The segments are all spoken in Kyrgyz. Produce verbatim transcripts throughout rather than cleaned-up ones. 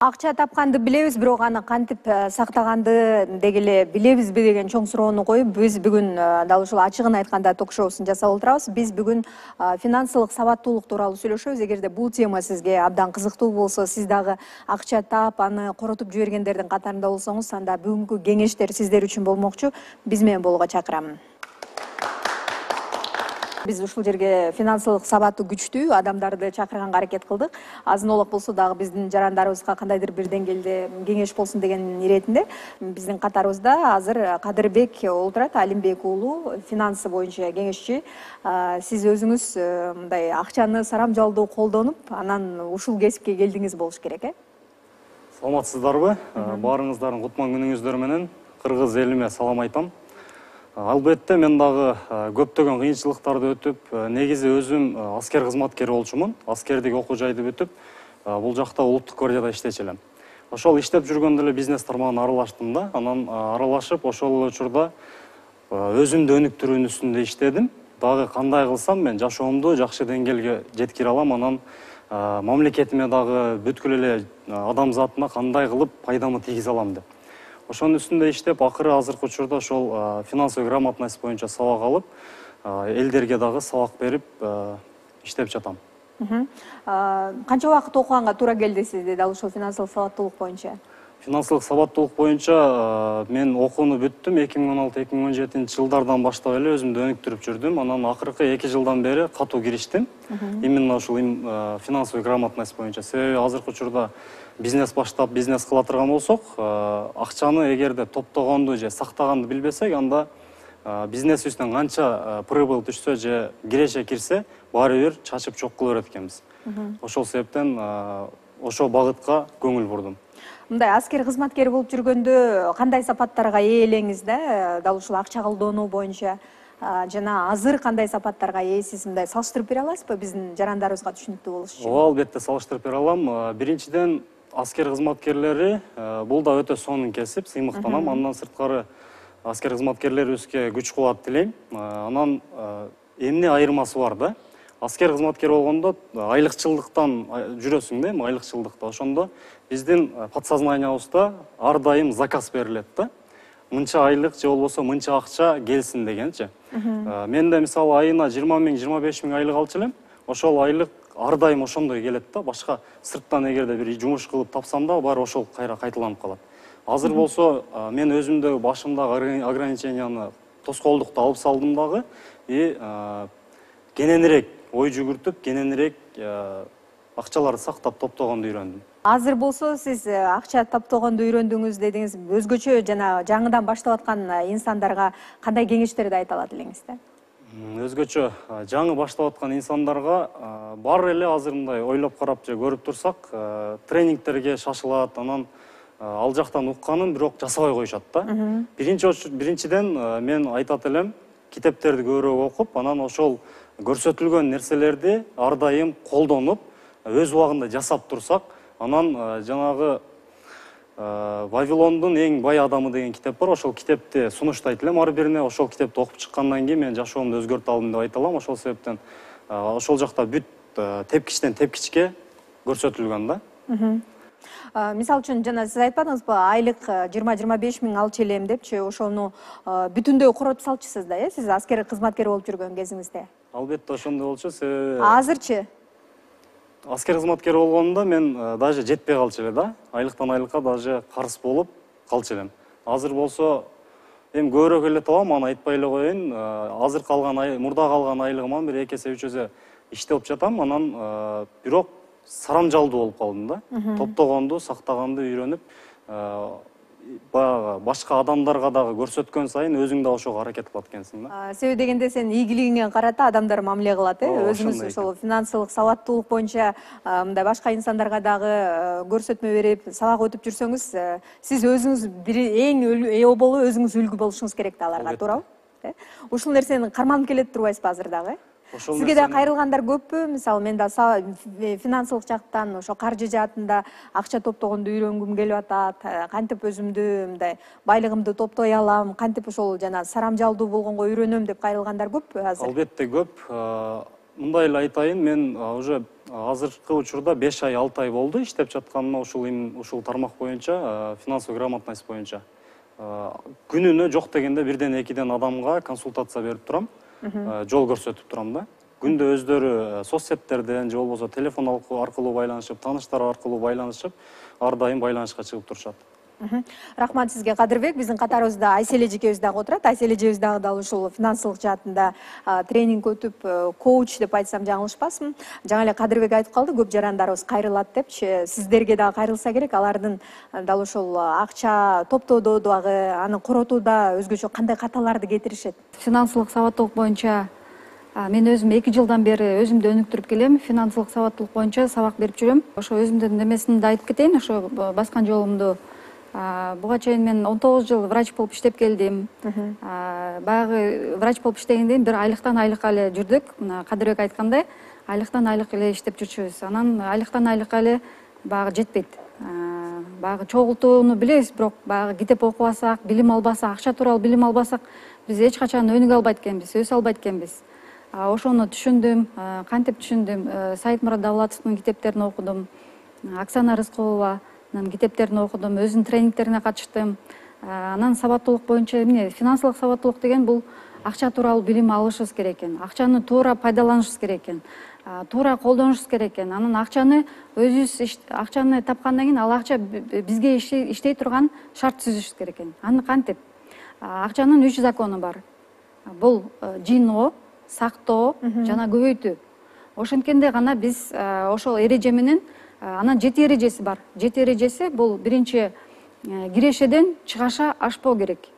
Акча тапканды билебиз, бирок аны кантип сактаганды деги эле билебизби деген чоң суроону коюп, биз бүгүн дал ушул ачыгын айтканда ток-шоусун жасап отурабыз. Биз бүгүн финансылык сабаттуулук тууралуу сүйлөшөбүз. Эгерде бул тема сизге абдан кызыктуу болсо, сиз дагы акча таап, аны коротуп жибергендердин катарында болсоңуз, анда бүгүнкү кеңештер сиздер үчүн болмокчу. Биз менен болууга чакырамын. Биз ушул жерге финансылык сабаты күчтүү адамдарды чакырганга аракет кылдык. Азын-олок болсо дагы биздин жарандарыбызга кандайдыр бир деңгээлде кеңеш болсун деген иретинде биздин катарыбызда азыр Кадырбек отурат, Алимбек уулу, финансы боюнча кеңешчи. Сиз өзүңүз мындай акчаны сарамжалдуу колдонуп, анан ушул кесипке келдиңиз болуш керек, э? Саламатсыздарбы? Баарыңыздардын кутман күнүңүздөр менен кыргыз элиме салам айтам. Албетте мен дагы көптөгөн кыйынчылыктарды өтүп, негизи өзүм аскер кызматкери болчумун. Аскердик окуу жайды бүтүп, бул жакта улуттук гвардияда иштечү элем. Ошол иштеп жүргөндө эле бизнес тармагына аралаштым да. Анан аралашып, ошол учурда өзүмдү өнүктүрүүнүн үстүндө иштедим. Дагы кандай кылсам мен жашоомду жакшы деңгээлге жеткире алам, анан мамлекетиме дагы бүткүл эле адамзатына кандай кылып пайдамы тийгизе алам деп. Ошонун үстүндө иштеп, акыры азыркы учурда ошол финансовый грамотность боюнча сабак алып, элдерге дагы сабак берип иштеп жатам. Канча убакыт окуганга туура келди сизде дал ушул финансылык сабаттуулук боюнча? Финансылык сабаттуулук боюнча мен окууну бүттүм. эки миң он алты эки миң он жетинчи жылдардан баштап эле өзүмдү өнүктүрүп жүрдүм. Анан акыркы эки жылдан бери катуу кириштим. Именно ушул финансовый грамотность боюнча. Себеби азыркы учурда бизнес баштап, бизнес кыла турган болсок, акчаны эгерде топтогонду же сактаганды билбесек, анда бизнесибизден канча прибыль түшсө же киреше кирсе, баары бир чачып чок кыла берет экенбиз. Ошол себептен ошол багытка көңүл бурдум. Мындай аскер кызматкери болуп жүргөндө кандай сапаттарга ээ элеңиз да, дал ушул акча колдонуу боюнча жана азыр кандай сапаттарга ээсиз, мындай салыштырып бере аласызбы биздин жарандарыбызга түшүнүктүү болуш үчүн? Ооба, албетте салыштырып бере алам. Биринчиден, аскер кызматкерлери бул да өтө сонун кесип, сыймыктанам. Андан сырткары аскер кызматкерлерибизге күч кубат тилейм. Анан эмне айырмасы бар да? Аскер кызматкер болгондо айлыкчылдыктан жүрөсүң да, эми айлыкчылдыкта. Ошондо биздин подсознаниябызда ар дайым заказ берилет да. Мынча айлык же болбосо мынча акча келсин дегенчи. Мен да мисалы айына жыйырма миң, жыйырма беш миң айлык алчу элем. Ошол айлык ар дайым ошондой келет да. Башка сырттан эгерде бир жумуш кылып тапсам да, баары ошол кайра кайталанып калат. Азыр болсо мен өзүмдө башымдагы ограниченияны, тоскоолдукту алып салдым дагы и кененирээк ой жүгүртүп, кененирээк акчаларды сактап топтогонду үйрөндүм. Азыр болсо сиз акча топтогонду үйрөндүңүз дедиңиз. Өзгөчө жана жаңыдан баштап аткан инсандарга кандай кеңештерди айта алат элеңиз да? Өзгөчө жаңы баштап аткан инсандарга бар эле азыр мындай ойлоп карап же көрүп турсак, тренингтерге шашылат, анан ал жактан укканын бирок жасабай коюшат да. Биринчи биринчиден мен айтат элем, китептерди көбүрөөк окуп, анан ошол көрсөтүлгөн нерселерди ар дайым колдонуп, өз убагында жасап турсак, анан жанагы Вавилондун эң бай адамы деген китеп бар. Ошол китепти сунуштайт элем ар бирине. Ошол китепти окуп чыккандан кийин мен жашоомду өзгөртө алдым деп айта алам. Ошол себептен ошол жакта бүт тепкичтен тепкичке көрсөтүлгөн да. Мисалы үчүн жана сиз айтпадыңызбы, айлык жыйырма жыйырма беш миң алчу элем депчи, ошону бүтүндөй коротуп салчусуз да, э? Сиз аскер кызматкер болуп жүргөн кезиңизде. Албетте ошондой болчу, себеби азырчы аскер кызматкер болгондо мен даже жетпей калчу эле да. Айлыктан айлыкка даже карыз болуп калчу элем. Азыр болсо эми көбүрөөк эле табам, аны айтпай эле коеюн. Азыр калган мурда калган айлыгыман бир эки эсе үч эсе иштеп жатам. Анан бирок сарамжалдуу болуп калдым да. Топтогонду, сактаганды үйрөнүп, баягы башка адамдарга дагы көрсөткөн сайын өзүң да ошого аракет кылат экенсиң да. Себеби дегенде сен ийгилигиңе карата адамдар мамиле кылат, э? Өзүңүз ошол финансылык сабаттуулук боюнча мындай башка инсандарга дагы көрсөтмө берип, сабак өтүп жүрсөңүз, сиз өзүңүз бир эң ээ болуп, өзүңүз үлгү болушуңуз керек да аларга, туурабы? Ушул нерсени карманып келет турбайсызбы азыр дагы? Сизге да кайрылгандар көппү? Мисалы мен да финансылык жактан, ошо каржы жаатында акча топтогонду үйрөнгүм келип атат, кантип өзүмдү мындай байлыгымды топтой алам, кантип ошол жана сарамжалдуу болгонго үйрөнөм деп кайрылгандар көппү азыр? Албетте көп. Мындай эле айтайын, мен уже азыркы учурда беш ай алты ай болду иштеп жатканыма ушул ушул тармак боюнча, финансовый грамотность боюнча. Күнүнө жок дегенде бирден экиден адамга консультация берип турам, жол көрсөтүп турам да. Күндө өздөрү соцсеттерден же болбосо телефон аркылуу байланышып, тааныштар аркылуу байланышып, ар дайым байланышка чыгып турушат. Рахмат сизге, Кадырбек. Биздин катарыбызда Айселе эжекебиз дагы отурат. Айселе эжебиз дагы дал ушул финансылык жаатында тренинг өтүп, коуч деп айтсам жаңылышпасмын. Жаңа эле Кадырбек айтып калды, көп жарандарыбыз кайрылат депчи. Сиздерге дагы кайрылса керек. Алардын дал ушул акча топтоодо дагы, аны коротууда өзгөчө кандай каталарды кетиришет? Финансылык сабаттуулук боюнча мен өзүм эки жылдан бери өзүмдү өнүктүрүп келем. Финансылык сабаттуулук боюнча сабак берип жүрөм. Ошо өзүмдүн немесин да айтып кетейин, ошо баскан жолумду. Буга чейин мен он тогуз жыл врач болуп иштеп келдим. Баягы врач болуп иштегенден кийин бир айлыктан айлыкка эле жүрдүк. Мына Кадырбек айткандай, айлыктан айлык эле иштеп жүрчүбүз. Анан айлыктан айлыкка эле баягы жетпейт. Баягы чогултууну билебиз, бирок баягы китеп окубасак, билим албасак, акча тууралуу билим албасак, биз эч качан өнүгө албайт экенбиз, өсө албайт экенбиз. Ошону түшүндүм, кантип түшүндүм? Сайыт Мурат Давлатовдун китептерин окудум, Оксана Рыскулова китептерин окудум, өзүнүн тренингтерине катыштым. Анан сабаттуулук боюнча эмне, финансылык сабаттуулук деген бул акча тууралуу билим алышыбыз керек экен. Акчаны туура пайдаланышыбыз керек экен. Туура колдонушубуз керек экен. Анан акчаны өзүбүз акчаны тапкандан кийин ал акча бизге иштей турган шарт түзүшүбүз керек экен. Аны кантип? Акчанын үч закону бар. Бул жыйноо, сактоо жана көбөйтүү. Ошенткенде гана биз ошол эреже менен, анан жети эрежеси бар. Жети эрежеси бул биринчи кирешеден чыгаша ашпоо керек.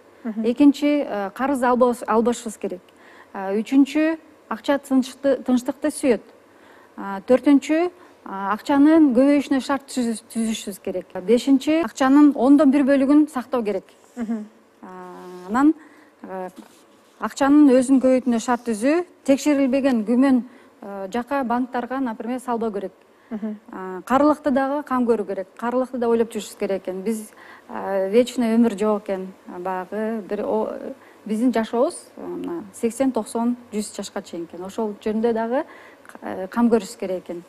Экинчи карыз албашыбыз керек. Үчүнчү акча тынчтыкты сүйөт. Төртүнчү акчанын көбөйүшүнө шарт түзүшүбүз керек. Бешинчи акчанын ондон бир бөлүгүн сактоо керек. Анан акчанын өзүн көбөйтүүнө шарт түзүү, текшерилбеген күмөн жака банктарга, например, салбоо керек. Карылыкты дагы кам көрүү керек. Карылыкты да ойлоп жүрүшүбүз керек экен. Биз вечный өмүр жок экен. Баягы бир биздин жашообуз сексен, токсон, жүз жашка чейин экен. Ошол жөнүндө дагы кам көрүшүбүз керек экен.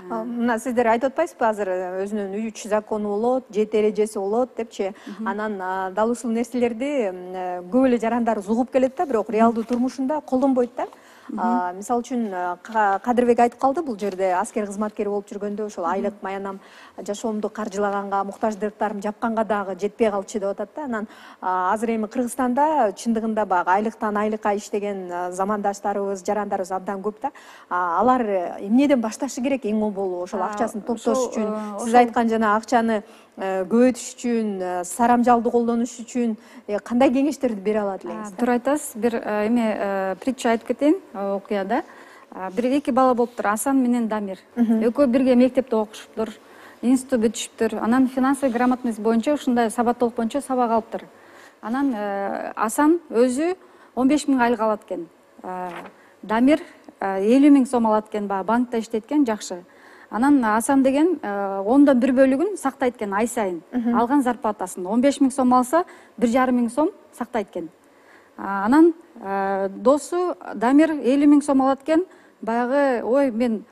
Мына сиздер айтып атпайсызбы, азыр өзүнүн үч закону болот, жети эрежеси болот депчи. Анан дал ушул нерселерди көп эле жарандарыбыз угуп келет да, бирок реалдуу турмушунда колдонбойт да. Мисалы үчүн Кадырбек айтып калды, бул жерде аскер кызматкери болуп жүргөндө ошол айлык маянам жашоомду каржылаганга, муктаждыктарымды жапканга дагы жетпей калчу деп атат да. Анан азыр эми Кыргызстанда чындыгында баягы айлыктан айлыкка иштеген замандаштарыбыз, жарандарыбыз абдан көп да. Алар эмнеден башташы керек эң оболу ошол акчасын топтош үчүн? Сиз айткан жана акчаны көбөйтүш үчүн, сарамжалды колдонуш үчүн кандай кеңештерди бере алат элеңиз? Туура айтасыз. Бир эме притча айтып кетейин, окуяда. Бир эки бала болуптур, Асан менен Дамир. Экөө бирге мектепте окушуптур, институт бүтүшүптүр. Анан финансовый грамотность боюнча ушундай сабаттуулук боюнча сабак алыптыр. Анан Асан өзү он беш миң айлык алат экен. Дамир элүү миң сом алат экен, баягы банкта иштейт экен, жакшы. Анан Асан деген ондон бир бөлүгүн сактайт экен ай сайын. Алган зарплатасын он беш миң сом алса, бир жарым миң сом сактайт экен. Анан досу Дамир элүү миң сом алат экен. Баягы, ой, мен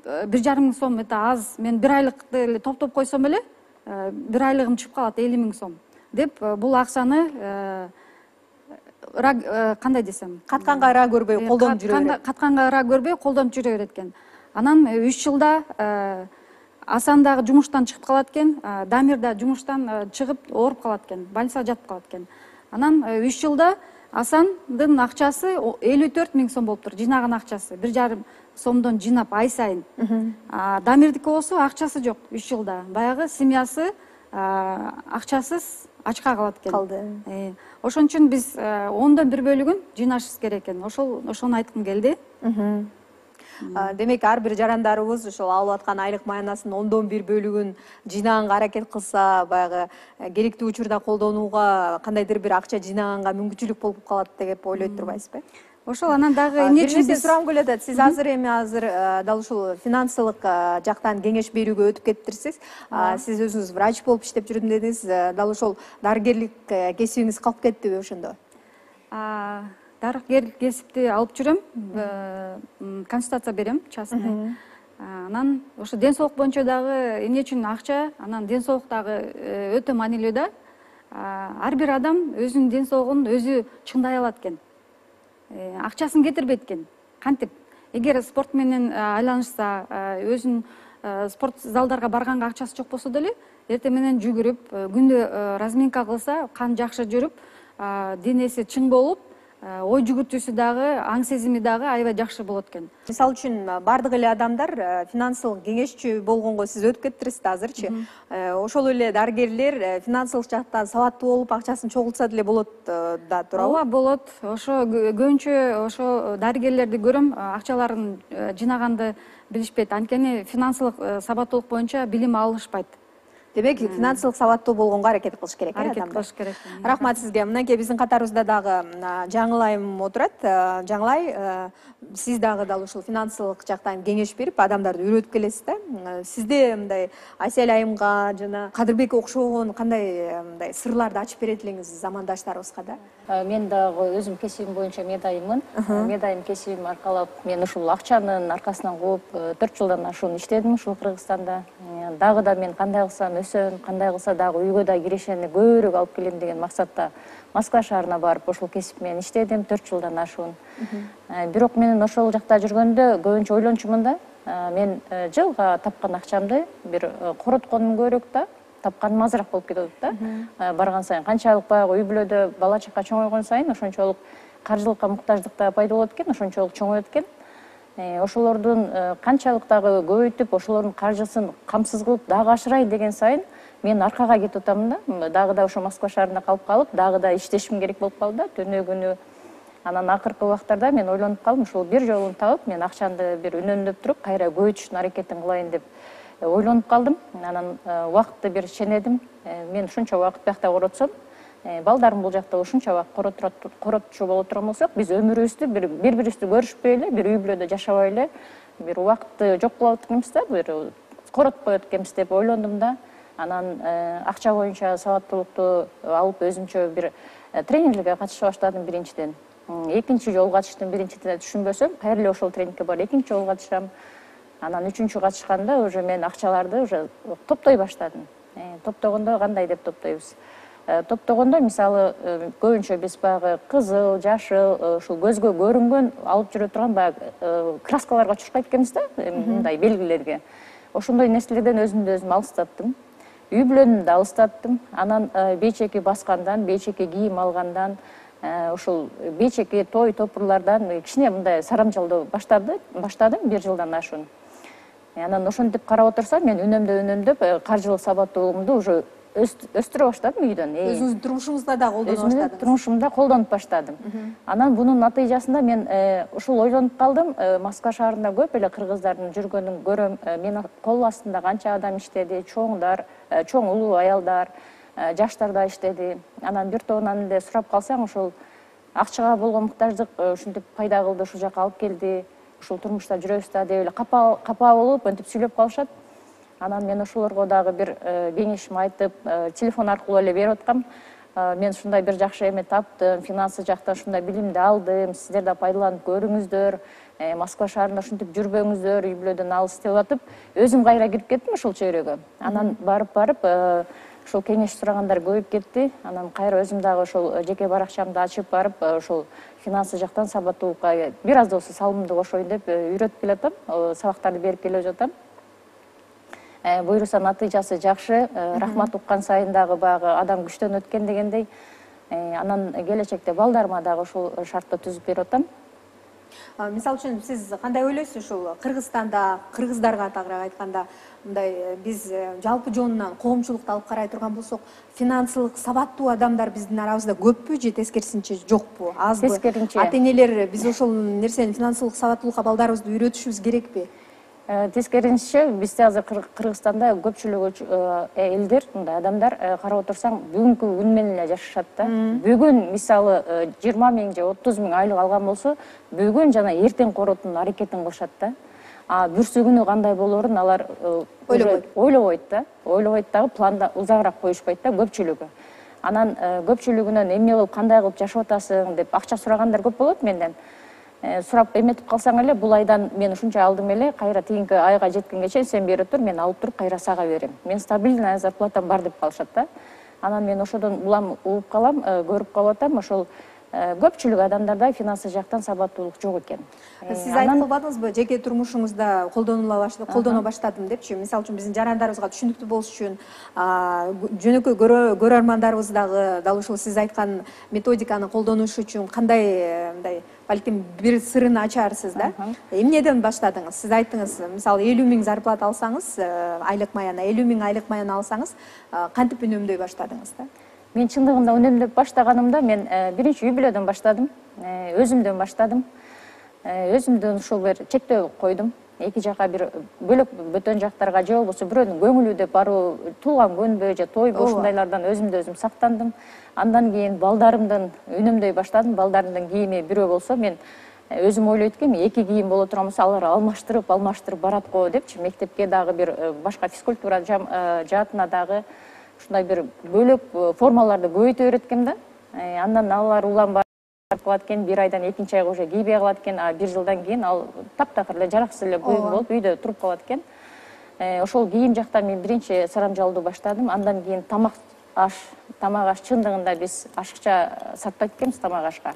бир жарым миң сом это аз, мен бир айлыкты эле топтоп койсом эле, бир айлыгым түшүп калат элүү миң сом деп бул акчаны кандай десем, катканга ара көрбөй колдонуп жүрө берет. Катканга ара көрбөй колдонуп жүрө берет экен. Анан үч жылда Асан дагы жумуштан чыгып калат экен, Дамир да жумуштан чыгып ооруп калат экен, больницага жатып калат экен. Анан үч жылда Асандын акчасы элүү төрт миң сом болуптур, жыйнаган акчасы, бир жарым сомдон жыйнап ай сайын. Дамирдики болсо акчасы жок үч жылда. Баягы семьясы акчасыз ачка калат экен. Калды. Ошон үчүн биз ондон бир бөлүгүн жыйнашыбыз керек экен. Ошол ошону айткым келди. Демек, ар бир жарандарыбыз ошол алып аткан айлык маянасынын ондон бир бөлүгүн жыйнаганга аракет кылса, баягы керектүү учурда колдонууга, кандайдыр бир акча жыйнаганга мүмкүнчүлүк болуп калат деп ойлойт турбайсызбы? Ошол анан дагы эмне үчүн биз сурагым келип атат. Сиз азыр эми азыр дал ушул финансылык жактан кеңеш берүүгө өтүп кетиптирсиз. Сиз өзүңүз врач болуп иштеп жүрдүм дедиңиз. Дал ошол дарыгерлик кесибиңиз калып кеттиби ошондо? Дарыгерлик кесипти алып жүрөм, консультация берем, частный. Анан ошо ден соолук боюнча дагы эмне үчүн акча, анан ден соолук дагы өтө маанилүү да. Ар бир адам өзүнүн ден соолугун өзү чыңдай алат экен. Акчасын кетирбейт экен. Кантип? Эгер спорт менен айланышса, өзүнүн спорт залдарга барганга акчасы жок болсо деле, эртең менен жүгүрүп, күндө разминка кылса, кан жакшы жүрүп, денеси чың болуп, ой жүгүртүүсү дагы, аң сезими дагы аябай жакшы болот экен. Мисалы үчүн бардык эле адамдар финансылык кеңешчи болгонго сиз өтүп кеттириз да азырчы. Ошол эле дарыгерлер финансылык жактан сабаттуу болуп, акчасын чогултса деле болот да, туурабы? Ооба, болот. Ошо көбүнчө ошо дарыгерлерди көрөм, акчаларын жынаганды билишпейт. Анткени финансылык сабаттуулук боюнча билим алышпайт. Демек, финансылык сабаттуу болгонго аракет кылыш керек, э, адамдар. Аракет кылыш керек. Рахмат сизге. Мынакей биздин катарыбызда дагы Жаңылайым отурат. Жаңылай, сиз дагы дал ушул финансылык жактан кеңеш берип, адамдарды үйрөтүп келесиз да. Сизде мындай Асель айымга жана Кадырбекке окшогон кандай мындай сырларды ачып берет элеңиз замандаштарыбызга да? Мен дагы өзүм кесибим боюнча медайыммын. Медайым кесибим аркалап, мен ушул акчанын аркасынан кууп төрт жылдан ашуун иштедим ушул Кыргызстанда. Дагы да мен кандай кылсам өсөм, кандай кылса дагы үйгө да кирешени көбүрөөк алып келем деген максатта Москва шаарына барып ушул кесип менен иштедим төрт жылдан ашуун. Бирок мен ошол жакта жүргөндө көбүнчө ойлончумун да. Мен жылга тапкан акчамды бир коротконум көбүрөөк да, тапканым азыраак болуп кетип атат да. Барган сайын канчалык баягы үй бүлөдө бала чака чоңойгон сайын ошончолук каржылыкка муктаждык да пайда болот экен, ошончолук чоңойот экен. Ошолордун канчалык дагы көбөйтүп, ошолордун каржысын камсыз кылып дагы ашырайын деген сайын мен аркага кетип атам да. Дагы да ошо Москва шаарында калып калып, дагы да иштешим керек болуп калды да, түнү күнү. Анан акыркы убактарда мен ойлонуп калдым, ушул бир жолун табып, мен акчамды бир үнөмдөп туруп, кайра көбөйтүштүн аракетин кылайын деп ойлонуп калдым. Анан убакытты бир ченедим. Мен ушунча убакыт биякта коротсом, балдарым бул жакта ушунча убакыт коротчу боло турган болсок, биз өмүрүбүздү бири-бирибизди көрүшпөй эле, бир үй бүлөдө жашабай эле, бир убакытты жок кылып атканбыз да, бир коротпой атканбыз деп ойлондум да. Анан акча боюнча сабаттуулукту алып өзүмчө бир тренингге катыша баштадым биринчиден. Экинчи жолу катыштым, биринчиден түшүнбөсөм, кайра эле ошол тренингке барып экинчи жолу катышам. Анан үчүнчү катышканда уже мен акчаларды уже топтой баштадым. Топтогондо кандай деп топтойбуз? Топтогондо мисалы көбүнчө биз баягы кызыл, жашыл, ушул көзгө көрүнгөн алып жүрө турган баягы краскаларга чуркайт экенбиз да, мындай белгилерге. Ошондой нерселерден өзүмдү өзүм алыстаттым. Үй бүлөнү да алыстаттым. Анан бейчеки баскандан, бейчеки кийим алгандан, ушул бейчеки той топурлардан кичине мындай сарамжалдоо баштадым бир жылдан ашуун. Анан ошентип карап отурсам, мен үнөмдө үнөмдөп каржылык сабаттуулугумду уже өстүрө баштадым үйдөн. Өзүңүздүн турмушуңузда да колдоно баштадыңыз? Өзүмдүн турмушумда колдонуп баштадым. Анан бунун натыйжасында мен ушул ойлонуп калдым, Москва шаарында көп эле кыргыздардын жүргөнүн көрөм. Мен кол астында канча адам иштеди, чоңдар, чоң улуу аялдар, жаштар да иштеди. Анан бир тобунан эле сурап калсаң, ушул акчага болгон муктаждык ушинтип пайда кылды, ушул жака алып келди, ушул турмушта жүрөбүз да деп эле капа болуп, мынтип сүйлөп калышат. Анан мен ошолорго дагы бир кеңешим айтып, телефон аркылуу эле берип аткам. Мен ушундай бир жакшы эме таптым, финансы жактан ушундай билимди алдым, сиздер да пайдаланып көрүңүздөр, Москва шаарында ушинтип жүрбөңүздөр, үй бүлөдөн алыс деп атып, өзүм кайра кирип кеттим ушул чөйрөгө. Анан барып-барып ушул кеңеш сурагандар көбөйүп кетти. Анан кайра өзүм дагы ошол жеке баракчамды ачып барып, ошол финансы жактан сабаттуулукка бир аз да болсо салымымды кошоюн деп үйрөтүп келатам, сабактарды берип келе жатам. Буюрса натыйжасы жакшы, рахмат уккан сайын дагы баягы адам күчтөн өткөн дегендей. Анан келечекте балдарыма дагы ушул шартты түзүп берип атам. Мисалы үчүн сиз кандай ойлойсуз ушул Кыргызстанда, кыргыздарга тагыраак айтканда, мындай биз жалпы жонунан коомчулукту алып карай турган болсок, финансылык сабаттуу адамдар биздин арабызда көппү же тескерисинче жокпу, азбы? Тескерисинче. Ата-энелер биз ошол нерсени финансылык сабаттуулукка балдарыбызды үйрөтүшүбүз керекпи? Тескерисинче бизде азыр Кыргызстанда көпчүлүгү элдер, мындай адамдар карап отурсаң бүгүнкү күн менен эле жашашат да. Бүгүн мисалы жыйырма миң же отуз миң айлык алган болсо, бүгүн жана эртең коротуунун аракетин кылышат да. А бүрсү күнү кандай болоорун алар ойлобойт да. Ойлобойт дагы планда узагыраак коюшпайт да көпчүлүгү. Анан көпчүлүгүнөн эмне кылып, кандай кылып жашап атасың деп акча сурагандар көп болот менден. сурап эметип калсаң эле бул айдан мен ушунча алдым эле, кайра тигинки айга жеткенге чейин сен бере тур, мен алып туруп кайра сага берем. Мен стабильный зарплатам бар деп калышат да. Анан мен ошодон улам угуп калам, көрүп калып атам, ошол көпчүлүк адамдарда финансы жактан сабаттуулук жок экен. Сиз айтып калбадыңызбы, жеке турмушуңузда колдонула баштадым, колдоно баштадым депчи? Мисалы үчүн биздин жарандарыбызга түшүнүктүү болуш үчүн жөнөкөй көрөрмандарыбыз дагы дал ушул сиз айткан методиканы колдонуш үчүн кандай мындай балким бир сырын ачарсыз да? Эмнеден баштадыңыз? Сиз айттыңыз, мисалы элүү миң зарплата алсаңыз, айлык маяна элүү миң айлык маяна алсаңыз, кантип үнөмдөй баштадыңыз да? Мен чындыгында үнөмдөп баштаганымда мен биринчи үй бүлөдөн баштадым, өзүмдөн баштадым. Өзүмдөн ушул бир чектөө койдум. Эки жака бир бөлөк бөтөн жактарга же болбосо бирөөнүн көңүлү деп баруу, туулган күнбү же тойбу ушундайлардан өзүмдү өзүм сактандым. Андан кийин балдарымдын үнөмдөй баштадым. Балдарымдын кийими бирөө болсо мен өзүм ойлойт экенмин, эки кийим боло турган болсо алар алмаштырып, алмаштырып барат го депчи. Мектепке дагы бир башка физкультура жаатына дагы ушундай бир бөлөк формаларды көбөйтө береткем да. Андан алар улам кылат экен, бир айдан экинчи айга уже кийбей калат экен, а бир жылдан кийин ал таптакыр эле жараксыз эле буюм болуп үйдө туруп калат экен. Ошол кийим жактан мен биринчи сарамжалдуу баштадым. Андан кийин тамак аш, тамак аш чындыгында биз ашыкча сатпайт экенбиз тамак ашка.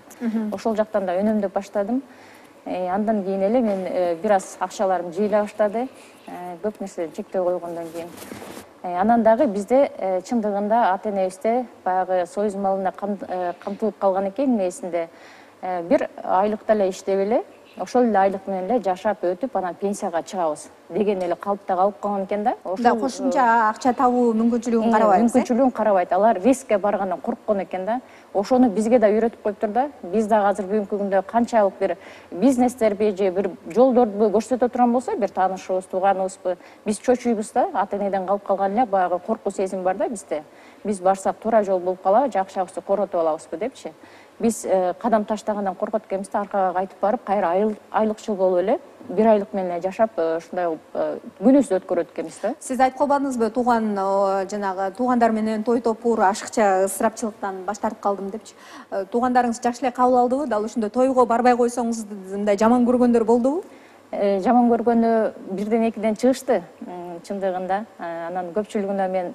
Ошол жактан да үнөмдөп баштадым. Андан кийин эле мен бир аз акчаларым жыйыла баштады. Көп нерседен чектөө койгондон кийин. Анан дагы бизде чындыгында ата энебизде баягы союз малына камтылып калган экен, эсинде бир айлыкта эле иштеп эле, ошол эле айлык менен эле жашап өтүп, анан пенсияга чыгабыз деген эле калыпта калып калган экен да. Да, кошумча акча табуу мүмкүнчүлүгүн карабайбыз. Мүмкүнчүлүгүн карабайт. Алар рискке баргандан корккон экен да. Ошону бизге да үйрөтүп коюптур да. Биз дагы азыр бүгүнкү күндө канчалык бир бизнестерби же бир жолдорду көрсөтө турган болсо, бир таанышыбыз, тууганыбызбы, биз чочуйбуз да. Ата энеден калып калган эле баягы коркуу сезим бар да бизде. Биз барсак туура жол болуп калабы, же акчабызды коротуп алабызбы депчи. Биз кадам таштагандан коркот экенбиз да, аркага кайтып барып, кайра айлыкчыл болуп эле бир айлык менен эле жашап, ушундай күнүбүздү өткөрөт экенбиз да. Сиз айтып калбадыңызбы, тууган жанагы туугандар менен той топур, ашыкча ысырапчылыктан баш тартып калдым депчи. Туугандарыңыз жакшы эле кабыл алдыбы? Дал ушундай тойго барбай койсоңуз мындай жаман көргөндөр болдубу? Жаман көргөнү бирден экиден чыгышты чындыгында. Анан көпчүлүгүнө мен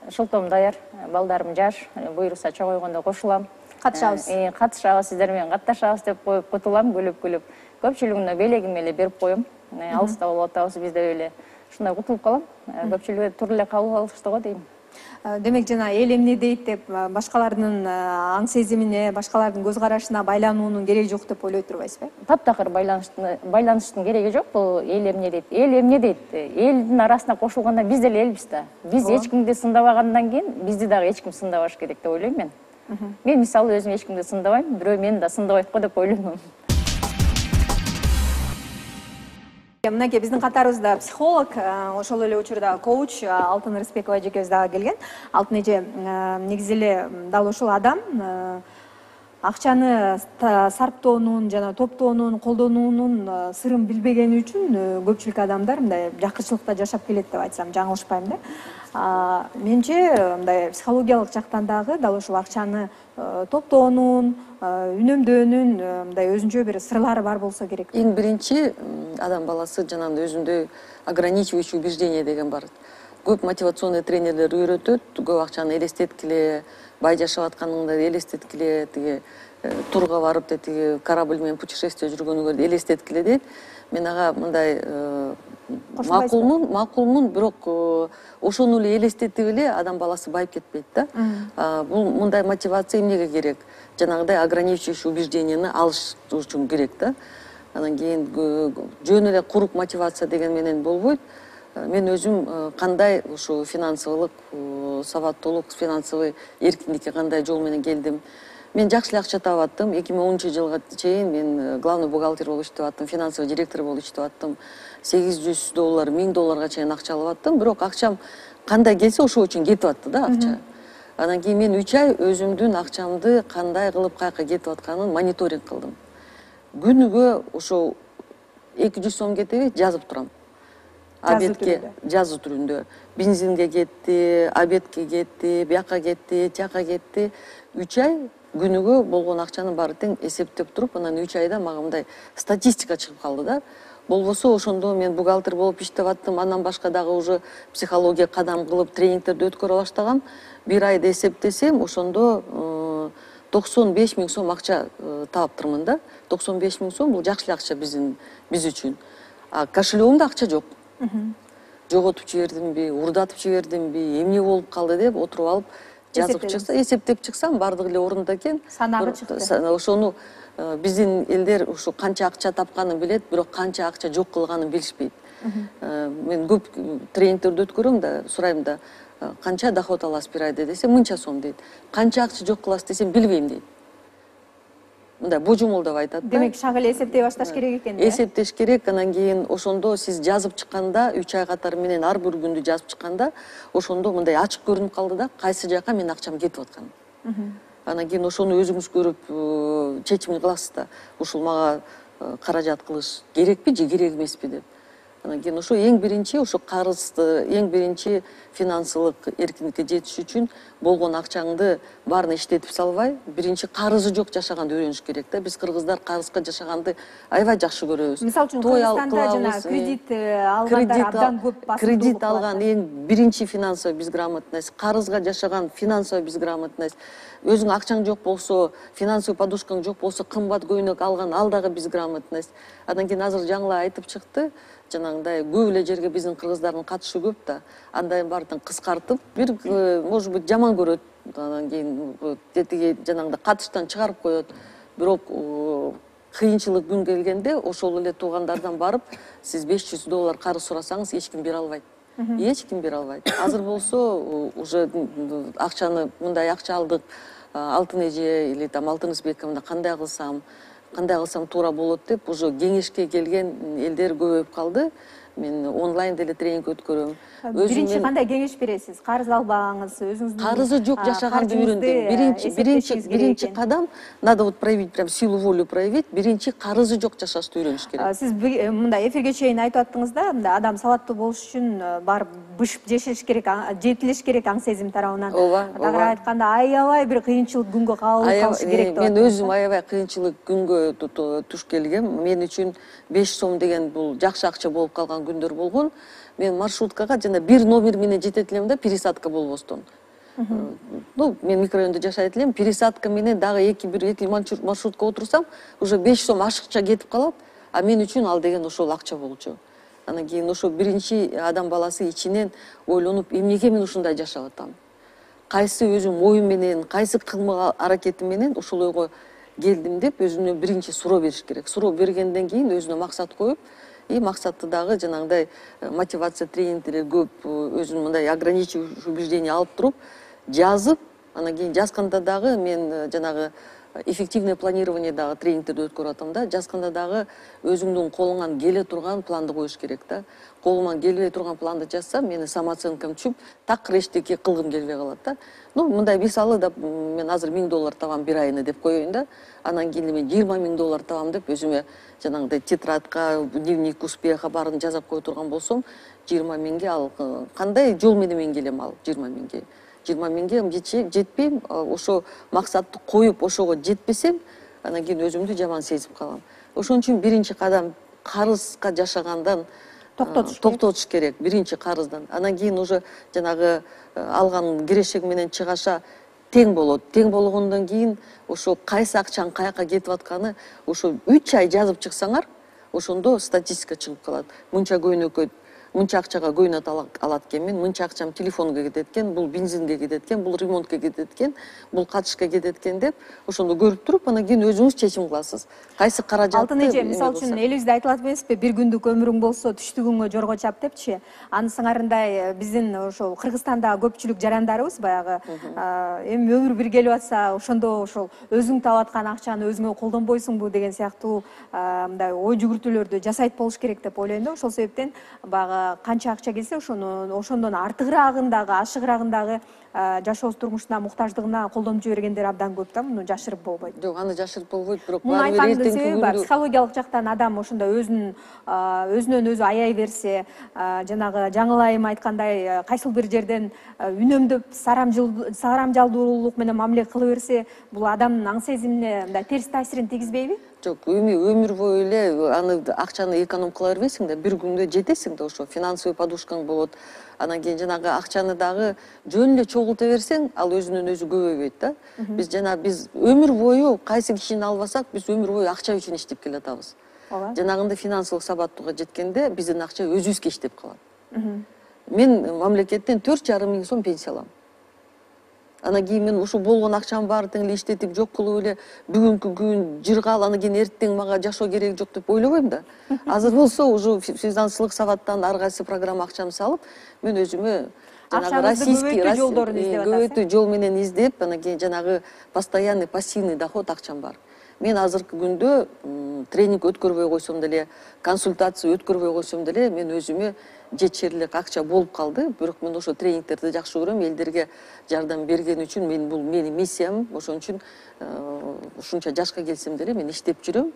шылтоом даяр, балдарым жаш, буйруса чогойгондо кошулам. Катышабыз. Катышабыз, сиздер менен катташабыз деп коюп кутулам, күлүп-күлүп. Көпчүлүгүнө белегим эле берип коем. Алыста болуп атабыз биз деп эле. Ушундай кутулуп калам. Көпчүлүгү туура эле кабыл алышты го дейм. Демек жана эл эмне дейт деп башкалардын аң сезимине, башкалардын көз карашына байлануунун кереги жок деп ойлой турбайсызбы? Таптакыр байланыштын кереги жок. Бул эл эмне дейт? Эл эмне дейт? Элдин арасына кошулганда биз деле элбиз да. Биз эч кимди сындабагандан кийин бизди дагы эч ким сындабаш керек деп ойлойм мен. Мен мисалы өзүм эч кимди сындабайм, бирөө мени да сындабайт го деп ойлойм. Мынакей биздин катарыбызда психолог, ошол эле учурда коуч Алтын Рыспекова эжекебиз дагы келген. Алтын эже, негизи эле дал ушул адам акчаны сарптоонун жана топтоонун, колдонуунун сырын билбегени үчүн көпчүлүк адамдар мындай жакырчылыкта жашап келет деп айтсам жаңылышпайм да. Менче мындай психологиялык жактан дагы дал ушул акчаны топтоонун, үнөмдөөнүн мындай өзүнчө бир сырлары бар болсо керек. Эң биринчи адам баласы жанагындай өзүндөй ограничивающий убеждение деген бар. Көп мотивационный тренерлер үйрөтөт, көп акчаны элестеткиле, бай жашап атканыңды элестеткиле, тиги турга барып тиги корабль менен путешествие жүргөнүңөрдү элестеткиле дейт. Мен ага мындай макулмун, макулмун, бирок ошону эле элестетип эле адам баласы байып кетпейт да. Бул мындай мотивация эмнеге керек? Жанагындай ограничивающий убежденияны алыш үчүн керек да. Анан кийин жөн эле курук мотивация деген менен болбойт. Мен өзүм кандай ушу финансылык сабаттуулук, финансовый эркиндикке кандай жол менен келдим. Мен жакшы эле акча таап аттым. эки миң онунчу жылга чейин мен главный бухгалтер болуп иштеп аттым, финансовый директор болуп иштеп аттым. сегиз жүз доллар, миң долларга чейин акча алып аттым. Бирок акчам кандай келсе ошол үчүн кетип атты да акча. Анан кийин мен үч ай өзүмдүн акчамды кандай кылып каяка кетип атканын мониторинг кылдым. Күнүгө ошол эки жүз сом кетеби, жазып турам. Обедке, жазуу түрүндө. Бензинге кетти, обедке кетти, бияка кетти, тияка кетти. үч ай күнүгө болгон акчанын баары тең эсептеп туруп, анан үч айда мага мындай статистика чыгып калды да. Болбосо ошондо мен бухгалтер болуп иштеп аттым, андан башка дагы уже психология кадам кылып тренингтерди өткөрө баштагам. Бир айда эсептесем, ошондо токсон беш миң сом акча таптырмын да. токсон беш миң сом бул жакшы акча биздин биз үчүн. А кошелегимде акча жок. Жоготуп жибердимби, урдатып жибердимби, эмне болуп калды деп отуруп алып жазып чыкса, эсептеп чыксам, бардыгы эле орунда экен. Санагы чыкты. Ошону биздин элдер ушу канча акча тапканын билет, бирок канча акча жок кылганын билишпейт. Мен көп тренингтерди өткөрөм да, сурайм да, канча доход аласыз бир айда десе, мынча сом дейт. Канча акча жок кыласыз десем, билбейм дейт. Мындай божомолдоп айтат да. Демек шак эле эсептей башташ керек экен да. Эсептеш керек, анан кийин ошондо сиз жазып чыкканда, үч ай катары менен ар бир күндү жазып чыкканда, ошондо мындай ачык көрүнүп калды да, кайсы жака менин акчам кетип атканын. Анан кийин ошону өзүңүз көрүп чечим кыласыз да. Ушул мага каражат кылыш керекпи же керек эмеспи деп. Анан кийин ошо эң биринчи ошо карызды, эң биринчи финансылык эркиндикке жетиш үчүн болгон акчаңды баарын иштетип салбай, биринчи карызы жок жашаганды үйрөнүш керек да. Биз кыргыздар карызга жашаганды аябай жакшы көрөбүз. Мисалы үчүн Кыргызстанда жана кредит алгандар абдан көп басымдуулук. Кредит алган эң биринчи финансовый безграмотность, карызга жашаган финансовый безграмотность. Өзүң акчаң жок болсо, финансовый подушкаң жок болсо, кымбат көйнөк алган, ал дагы безграмотность. Андан кийин азыр жаңылаа айтып чыкты, жанагындай көп эле жерге биздин кыргыздардын катышы көп да. Андайын баарын кыскартып, бир может быть жаман көрөт. Андан кийин тетиги жанагындай катыштан чыгарып коет. Бирок кыйынчылык күн келгенде ошол эле туугандардан барып, сиз беш жүз доллар карыз сурасаңыз, эч ким бере албайт. Эч ким бере албайт. Азыр болсо уже акчаны мындай акча алдык, алтын эже или там алтын избековна кандай кылсам, кандай кылсам туура болот деп уже кеңешке келген элдер көбөйүп калды. Мен онлайн деле тренинг өткөрөм. Биринчи кандай кеңеш бересиз? Карыз албаңыз, өзүңүздүн карызы жок жашаганды үйрөндүм. Биринчи биринчи биринчи кадам надо вот проявить, прям силу волю проявить. Биринчи карызы жок жашашты үйрөнүш керек. Сиз мындай эфирге чейин айтып аттыңыз да, мындай адам сабаттуу болуш үчүн барып бышып жешиш керек, жетилиш керек аң сезим тарабынан. Ооба. Тагыраак айтканда, аябай бир кыйынчылык күнгө кабылып калыш керек деп. Мен өзүм аябай кыйынчылык күнгө туш келгем. Мен үчүн беш сом деген бул жакшы акча болуп калган күндөр болгон. Мен маршруткага жана бир номер менен жетет элем да, пересадка болбостон. Ну, мен микрорайондо жашайт элем, пересадка менен дагы эки бир эки маршрутка отурсам, уже беш сом ашыкча кетип калат, а мен үчүн ал деген ошол акча болчу. Анан кийин ошо биринчи адам баласы ичинен ойлонуп, эмнеге мен ушундай жашап атам? Кайсы өзүм оюм менен, кайсы кылмак аракетим менен ушул ойго келдим деп өзүнө биринчи суроо бериш керек. Суроо бергенден кийин өзүнө максат коюп, и максатты дагы жанагындай мотивация тренингдери көп, өзүн мындай ограничивающий убеждение алып туруп жазып, анан кийин жазганда дагы мен жанагы эффективное планирование дагы тренингтерди өткөрүп атам да. Жазганда дагы өзүңдүн колуңан келе турган планды коюш керек да. Колуман келбей турган планды жазсам, менин самооценкам түшүп, такыр эчтеке кылгым келбей калат да. Ну, мындай мисалы да, мен азыр миң доллар табам бир айына деп коеюн да. Анан кийин мен жыйырма миң доллар табам деп өзүмө жанагындай тетрадка, дневник успеха баарын жазап кое турган болсом, жыйырма миңге ал кандай жол менен мен келем ал жыйырма миңге? жыйырма миңге жетпейм, ошо максатты коюп, ошого жетпесем, анан кийин өзүмдү жаман сезип калам. Ошон үчүн биринчи кадам карызга жашагандан токтотуш керек, биринчи карыздан. Анан кийин уже жанагы алган кирешеги менен чыгаша тең болот. Тең болгондон кийин ошо кайсы акчаң каяка кетип атканы ошо үч ай жазып чыксаңар, ошондо статистика чыгып калат. Мынча көйнөккө, мынча акчага көйнөк алат экенмин, мынча акчам телефонго кетет экен, бул бензинге кетет экен, бул ремонтко кетет экен, бул катышка кетет экен деп, ошондо көрүп туруп, анан кийин өзүңүз чечим кыласыз. Кайсы каражатты? Алтын эже, мисалы үчүн элибизде айтылат эмеспи, бир күндүк өмүрүң болсо, түштүгүңө жорго чап депчи. Анын сыңарындай биздин ошол Кыргызстандагы көпчүлүк жарандарыбыз баягы эми өмүр бир келип атса, ошондо ошол өзүң таап аткан акчаны өзүңө колдонбойсуңбу деген сыяктуу мындай ой жүгүртүүлөрдү жасайт болуш керек деп ойлойм да. Ошол себептен баягы канча акча келсе ошону ошондон артыгыраагын дагы ашыгыраагын дагы жашоо турмушуна муктаждыгына колдонуп жибергендер абдан көп да, муну жашырып болбойт. Жок, аны жашырып болбойт, бирок Муну айткандын себеби бар. Психологиялык жактан адам ошондо өзүн өзүнөн өзү аяй берсе, жанагы жаңылайым айткандай кайсыл бир жерден үнөмдөп сарамжалдуулук менен мамиле кыла берсе, бул адамдын аң сезимине мындай терс таасирин тийгизбейби? Жок, өмүр бою эле аны акчаны эконом кыла бербейсиң да, бир күндө жетесиң да, ошо финансовый подушкаң болот. Анан кийин жанагы акчаны дагы жөн эле чогулта берсең, ал өзүнөн өзү көбөйбөйт да. Биз жана биз өмүр бою кайсы кишини албасак, биз өмүр бою акча үчүн иштеп келатабыз. Ооба. Жанагындай финансылык сабаттуулукка жеткенде биздин акча өзүбүзгө иштеп калат. Мен мамлекеттен төрт жарым миң сом пенсия алам. Анан кийин мен ушу болгон акчамдын баарын тең эле иштетип, жок кылып эле бүгүнкү күн жыргал, анан кийин эртең мага жашоо кереги жок деп ойлобойм да. Азыр болсо уже финансылык сабаттан ар кайсы программа акчамды салып, мен өзүмө жанагы российский көбөйтүү жол менен издеп, анан кийин жанагы постоянный пассивный доход акчам бар. Мен азыркы күндө тренинг өткөрбөй койсом деле, консультация өткөрбөй койсом деле, мен өзүмө жетишерлик акча болуп калды. Бирок мен ошо тренингтерди жакшы көрөм, элдерге жардам берген үчүн мен бул менин миссиям. Ошон үчүн ушунча жашка келсем деле мен иштеп жүрөм.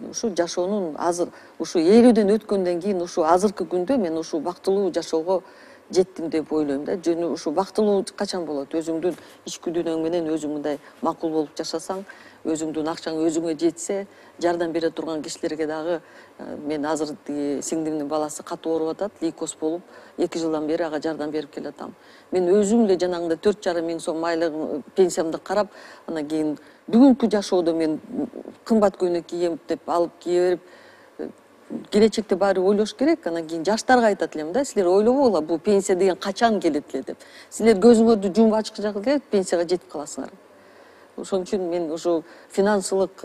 Ушу жашоонун азыр ушу ээлүүдөн өткөндөн кийин ушу азыркы күндө мен ушу бактылуу жашоого жеттим деп ойлойм да. Жөн ушу бактылуу качан болот? Өзүңдүн ички дүйнөң менен өзүң мындай макул болуп жашасаң, өзүңдүн акчаң өзүңө жетсе, жардам бере турган кишилерге дагы. Мен азыр сиңдимдин баласы катуу ооруп атат, лейкоз болуп, эки жылдан бери ага жардам берип келатам. Мен өзүм эле жанагындай төрт жарым миң сом айлык пенсиямды карап, анан кийин бүгүнкү жашоодо мен кымбат көйнөк кийем деп алып кие берип, келечекте баары ойлош керек. Анан кийин жаштарга айтат элем да, силер ойлобогула, бул пенсия деген качан келет эле деп. Силер көзүңөрдү жумуп ачкычак эле пенсияга жетип каласыңар. Ошон үчүн мен ушу финансылык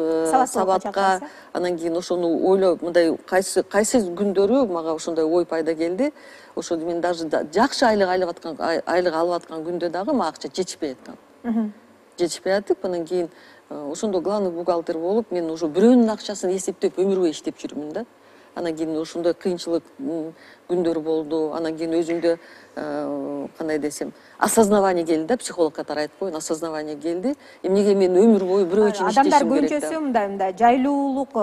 сабатка, анан кийин ошону ойлоп, мындай кайсы кайсы күндөрү мага ошондой ой пайда келди. Ошо мен даже жакшы айлык алып аткан айлык алып аткан күндө дагы мага акча жетишпей аткан. Жетишпей атып, анан кийин ошондо главный бухгалтер болуп, мен уже бирөөнүн акчасын эсептеп өмүр бою иштеп жүрмүн да. Анан кийин ошондой кыйынчылык күндөр болду. Анан кийин өзүмдө кандай десем, осознавание келди да, психолог катары айтып коеюн, осознавание келди. Эмнеге мен өмүр бою бирөө үчүн иштешим керек да. Адамдар көбүнчөсү мындай мындай жайлуулук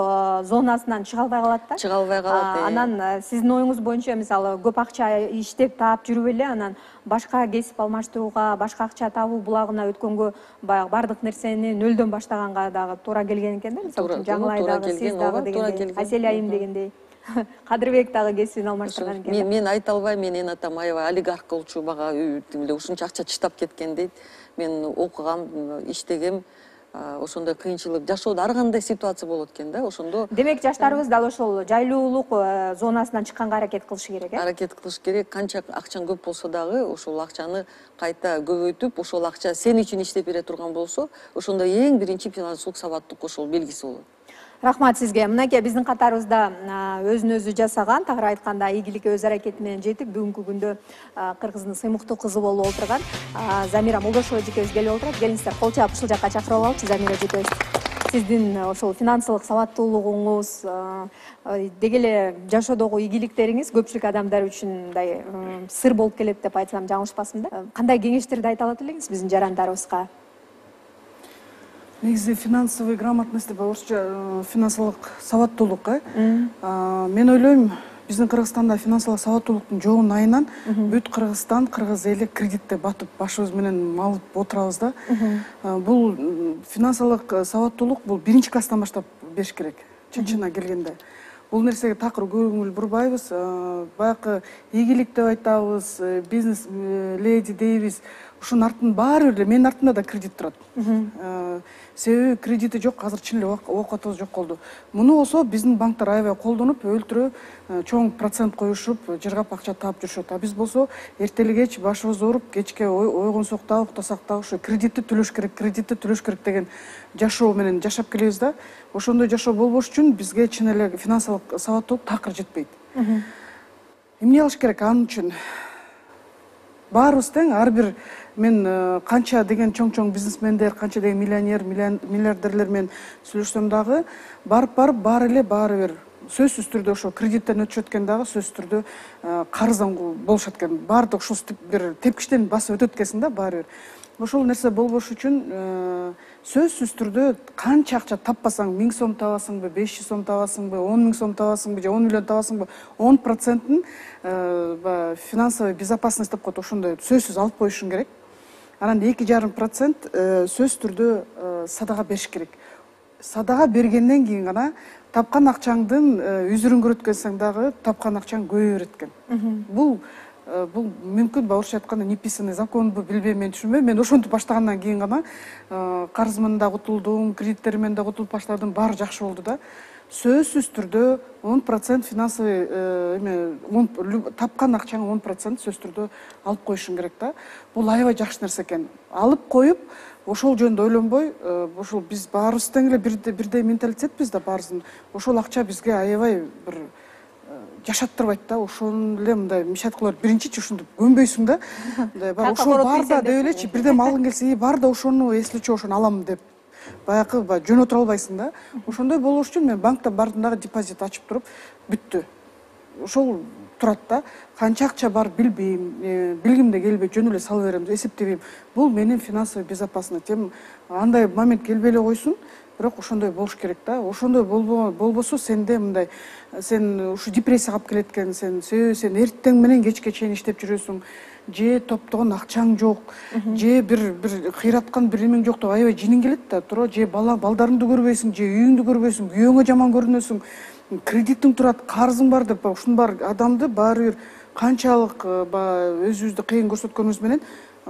зонасынан чыга албай калат да. Чыга албай калат. Анан сиздин оюңуз боюнча, мисалы, көп акча иштеп таап жүрүп эле, анан башка кесип алмаштырууга, башка акча табуу булагына өткөнгө баягы бардык нерсени нөлдөн баштаганга дагы туура келген экен да. Мисалы, Жаңылай дагы, сиз дагы дегендей, Асель айым дегендей. Кадырбек дагы кесибин алмаштырган экен. Мен мен айта албайм, мен эне атам аябай олигарх болчу, бага эле ушунча акча чыштап кеткен дейт. Мен окугам, иштегем, ошондой кыйынчылык жашоодо ар кандай ситуация болот экен да, ошондо. Демек жаштарыбыз дал ошол жайлуулук зонасынан чыкканга аракет кылышы керек, э? Аракет кылыш керек. Канча акчаң көп болсо дагы ошол акчаны кайта көбөйтүп, ошол акча сен үчүн иштеп бере турган болсо, ошондо эң биринчи финансылык сабаттуулук ошол белгиси болот. Рахмат сизге. Мынакей биздин катарыбызда өзүн өзү жасаган, тагыраак айтканда ийгиликке өз аракети менен жетип, бүгүнкү күндө Кыргыздын сыймыктуу кызы болуп отурган Замира Молдошова эжекебиз келип отурат. Келиңиздер, кол чаап ушул жакка чакырып алалы. Замира эжекебиз, сиздин ошол финансылык сабаттуулугуңуз, деги эле жашоодогу ийгиликтериңиз көпчүлүк адамдар үчүн мындай сыр болуп келет деп айтсам жаңылышпасмын да. Кандай кеңештерди айта алат элеңиз биздин жарандарыбызга? Негизи финансовый грамотность деп орусча финансылык сабаттуулук, э? Мен ойлойм, биздин Кыргызстанда финансылык сабаттуулуктун жоогун айынан бүт Кыргызстан, кыргыз эли кредитте батып башыбыз менен малып отурабыз да. Бул финансылык сабаттуулук бул биринчи класстан баштап бериш керек, чын-чынына келгенде. Бул нерсеге такыр көңүл бурбайбыз. Баягы ийгилик деп айтабыз, бизнес леди дейбиз. Ушунун артын баары эле менин артымда да кредит турат. Себеби кредити жок, азыр чын эле оокатыбыз жок болду. Муну болсо биздин банктар аябай колдонуп, өлтүрө чоң процент коюшуп, жыргап акча таап жүрүшөт. А биз болсо эртели кеч башыбыз ооруп, кечке ойгонсок дагы, уктасак дагы ушу кредитти төлөш керек, кредитти төлөш керек деген жашоо менен жашап келебиз да. Ошондой жашоо болбош үчүн бизге чын эле финансылык сабаттуулук такыр жетпейт. Эмне кылыш керек анын үчүн? Баарыбыз тең, ар бир мен канча деген чоң-чоң бизнесмендер, канча деген миллионер, миллиардерлер менен сүйлөшсөм дагы, барып-барып баары эле баары бир сөзсүз түрдө ошо кредиттен өтүшөт экен дагы сөзсүз түрдө карыздан болушат экен. Баардык ушул бир тепкичтен басып өтөт экенсиң да баары бир. Ошол нерсе болбош үчүн сөзсүз түрдө канча акча таппасаң, миң сом табасыңбы, беш жүз сом табасыңбы, он миң сом табасыңбы же он миллион табасыңбы, он процентин финансовая безопасность деп коет, ошондой сөзсүз алып коюшуң керек. Анан эки жарым процент сөзсүз түрдө садага бериш керек. Садага бергенден кийин гана тапкан акчаңдын үзүрүн көрөткөнсөң дагы тапкан акчаң көбөйө берет экен. Бул бул мүмкүн орусча айтканда неписанный законбу билбейм, мен түшүнбөйм. Мен ошентип баштагандан кийин гана карызыман да кутулдум, кредиттеримен да кутулуп баштадым, баары жакшы болду да. Сөзсүз түрдө он процент финансовый эме тапкан акчаң он процент сөзсүз түрдө алып коюшуң керек да. Бул аябай жакшы нерсе экен. Алып коюп, ошол жөнүндө ойлонбой, ошол биз баарыбыз тең эле бирдей менталитетпиз да баарыбыздын. Ошол акча бизге аябай бир жашаттырбайт да. Ошону эле мындай мечтать кылып биринчичи ушинтип көнбөйсүң да. Мындай бар ошол бар да деп элечи, бирдем алгың келсе, бар да ошону эслечи ошону алам деп баягы жөн отура албайсың да. Ошондой болуш үчүн мен банктан бардым дагы депозит ачып туруп бүттү. Ошол турат да. Канча акча бар билбейм, билгим да келбейт, жөн эле салып берем, эсептебейм. Бул менин финансовый безопасность. Андай момент келбей эле койсун, бирок ошондой болуш керек да. Ошондой болбосо сенде мындай сен ушу депрессияга алып келет экен, сен сен эртең менен кечке чейин иштеп жүрөсүң, же топтогон акчаң жок, же бир бир кыйраткан бир эмең жок деп аябай жиниң келет да, туура же бала балдарыңды көрбөйсүң, же үйүңдү көрбөйсүң, күйөөңө жаман көрүнөсүң, кредитиң турат, карызың бар деп ушунун баары адамды баары бир канчалык өзүбүздү кыйын көрсөткөнүбүз менен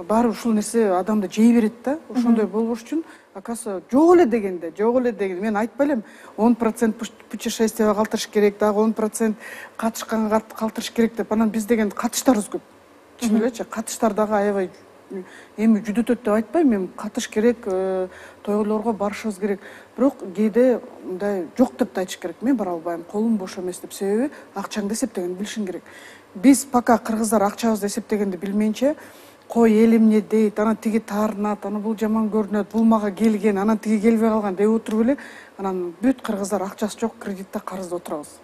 баары ушул нерсе адамды жей берет да. Ошондой болбош үчүн оказывается жок эле дегенде, жок эле дегенде мен айтпай элем он процент путешествияга калтырыш керек, дагы он процент катышканга калтырыш керек деп. Анан биз деген катыштарыбыз көп. Чын элечи, катыштар дагы аябай эми жүдөтөт деп айтпайм, мен катыш керек, тойлорго барышыбыз керек. Бирок кээде мындай жок деп да айтыш керек. Мен бара албайм, колум бош эмес деп. Себеби акчаңды эсептегенди билишиң керек. Биз пока кыргыздар акчабызды эсептегенди билмейинче, кой эл эмне дейт, анан тиги таарынат, анан бул жаман көрүнөт, бул мага келген, анан тиги келбей калган деп отуруп эле, анан бүт кыргыздар акчасы жок, кредитте, карызда отурабыз.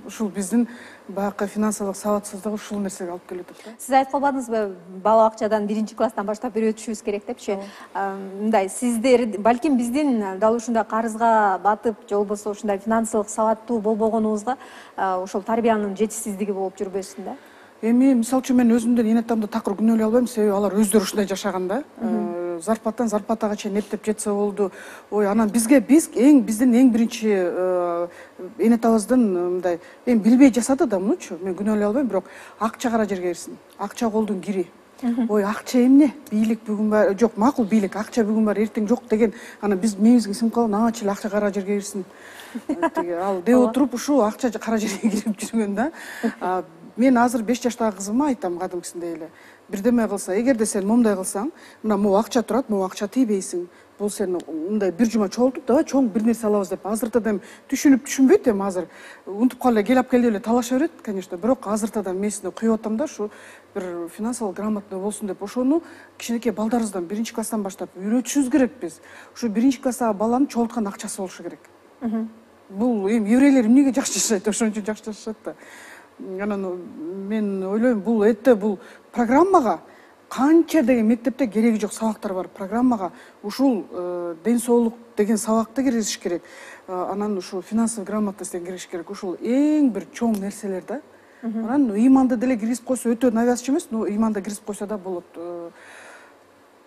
Ушул биздин баягы финансылык сабатсыздык ушул нерсеге алып келип атат да. Сиз айтып калбадыңызбы, бала бакчадан биринчи класстан баштап үйрөтүшүбүз керек депчи? Мындай, сиздер балким биздин дал ушундай карызга батып, же болбосо ушундай финансылык сабаттуу болбогонубузга ошол тарбиянын жетишсиздиги болуп жүрбөсүн да? Эми мисалы үчүн мен өзүмдөн эне атамды такыр күнөөлөй албайм, себеби алар өздөрү ушундай жашаган да. Зарплаттан зарплатага чейин эптеп жетсе болду. Ой, анан бизге биз эң биздин эң биринчи эне атабыздын мындай эми билбей жасады да мунучу, мен күнөөлөй албайм, бирок акча кара жерге кирсин. Акча колдун кири. Ой, акча эмне? Бийлик бүгүн бар, жок, макул бийлик, акча бүгүн бар, эртең жок деген. Анан биз миңибизге сиңип калган, аңачы эле акча кара жерге кирсин. Ал деп отуруп ушу акча кара жерге кирип жүргөн да. Мен азыр беш жаштагы кызыма айтам кадимкисиндей эле. Бирдеме кылса, эгерде сен момундай кылсаң, мына могу акча турат, могу акча тийбейсиң. Бул сен мындай бир жума чогултуп, давай чоң бир нерсе алабыз деп. Азыртада эми түшүнүп түшүнбөйт эми азыр. Унутуп калып келип алып келди эле талаша берет, конечно, бирок азыртада мен эсине куюп атам да, ушу бир финансылык грамотный болсун деп. Ошону кичинекей балдарыбыздан биринчи класстан баштап үйрөтүшүбүз керек биз. Ушу биринчи класстагы баланын чогулткан акчасы болушу керек. Бул эми еврейлер эмнеге жакшы жашайт, ошон үчүн жакшы жашашат да. Анан мен ойлойм, бул этте бул программага канча деген мектепте кереги жок сабактар бар. Программага ушул ден соолук деген сабакты киргизиш керек. Анан ушу финансовый грамотностьтен киргизиш керек. Ушул эң бир чоң нерселер да. Анан ыйманды деле киргизип койсо өтө навязчы эмес, но ыйманды киргизип койсо да болот.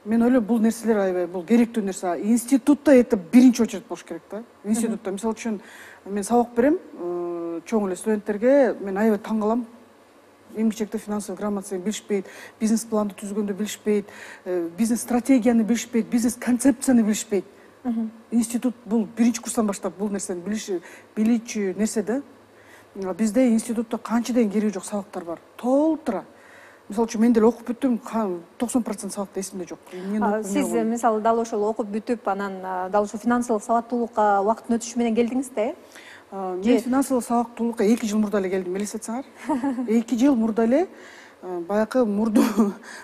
Мен ойлойм, бул нерселер аябай бул керектүү нерсе. Институтта это биринчи очередь болуш керек да. Институтта мисалы үчүн мен сабак берем, чоң эле студенттерге, мен аябай таң калам. Эмгичекте финансовый грамотность билишпейт, бизнес планды түзгөндү билишпейт, бизнес стратегияны билишпейт, бизнес концепцияны билишпейт. Институт бул биринчи курстан баштап бул нерсени билүүчү нерсе да. Бизде институтта канча деген кереги жок сабактар бар. Толтура. Мисалы үчүн мен деле окуп бүттүм, токсон процент сабакта эсимде жок. Сиз мисалы дал ошол окуп бүтүп, анан дал ошо финансылык сабаттуулукка убакыттын өтүшү менен келдиңиз да, э? Мен финансылык сабактуулукка эки жыл мурда эле келдим, элестетсеңер. эки жыл мурда эле баягы мурду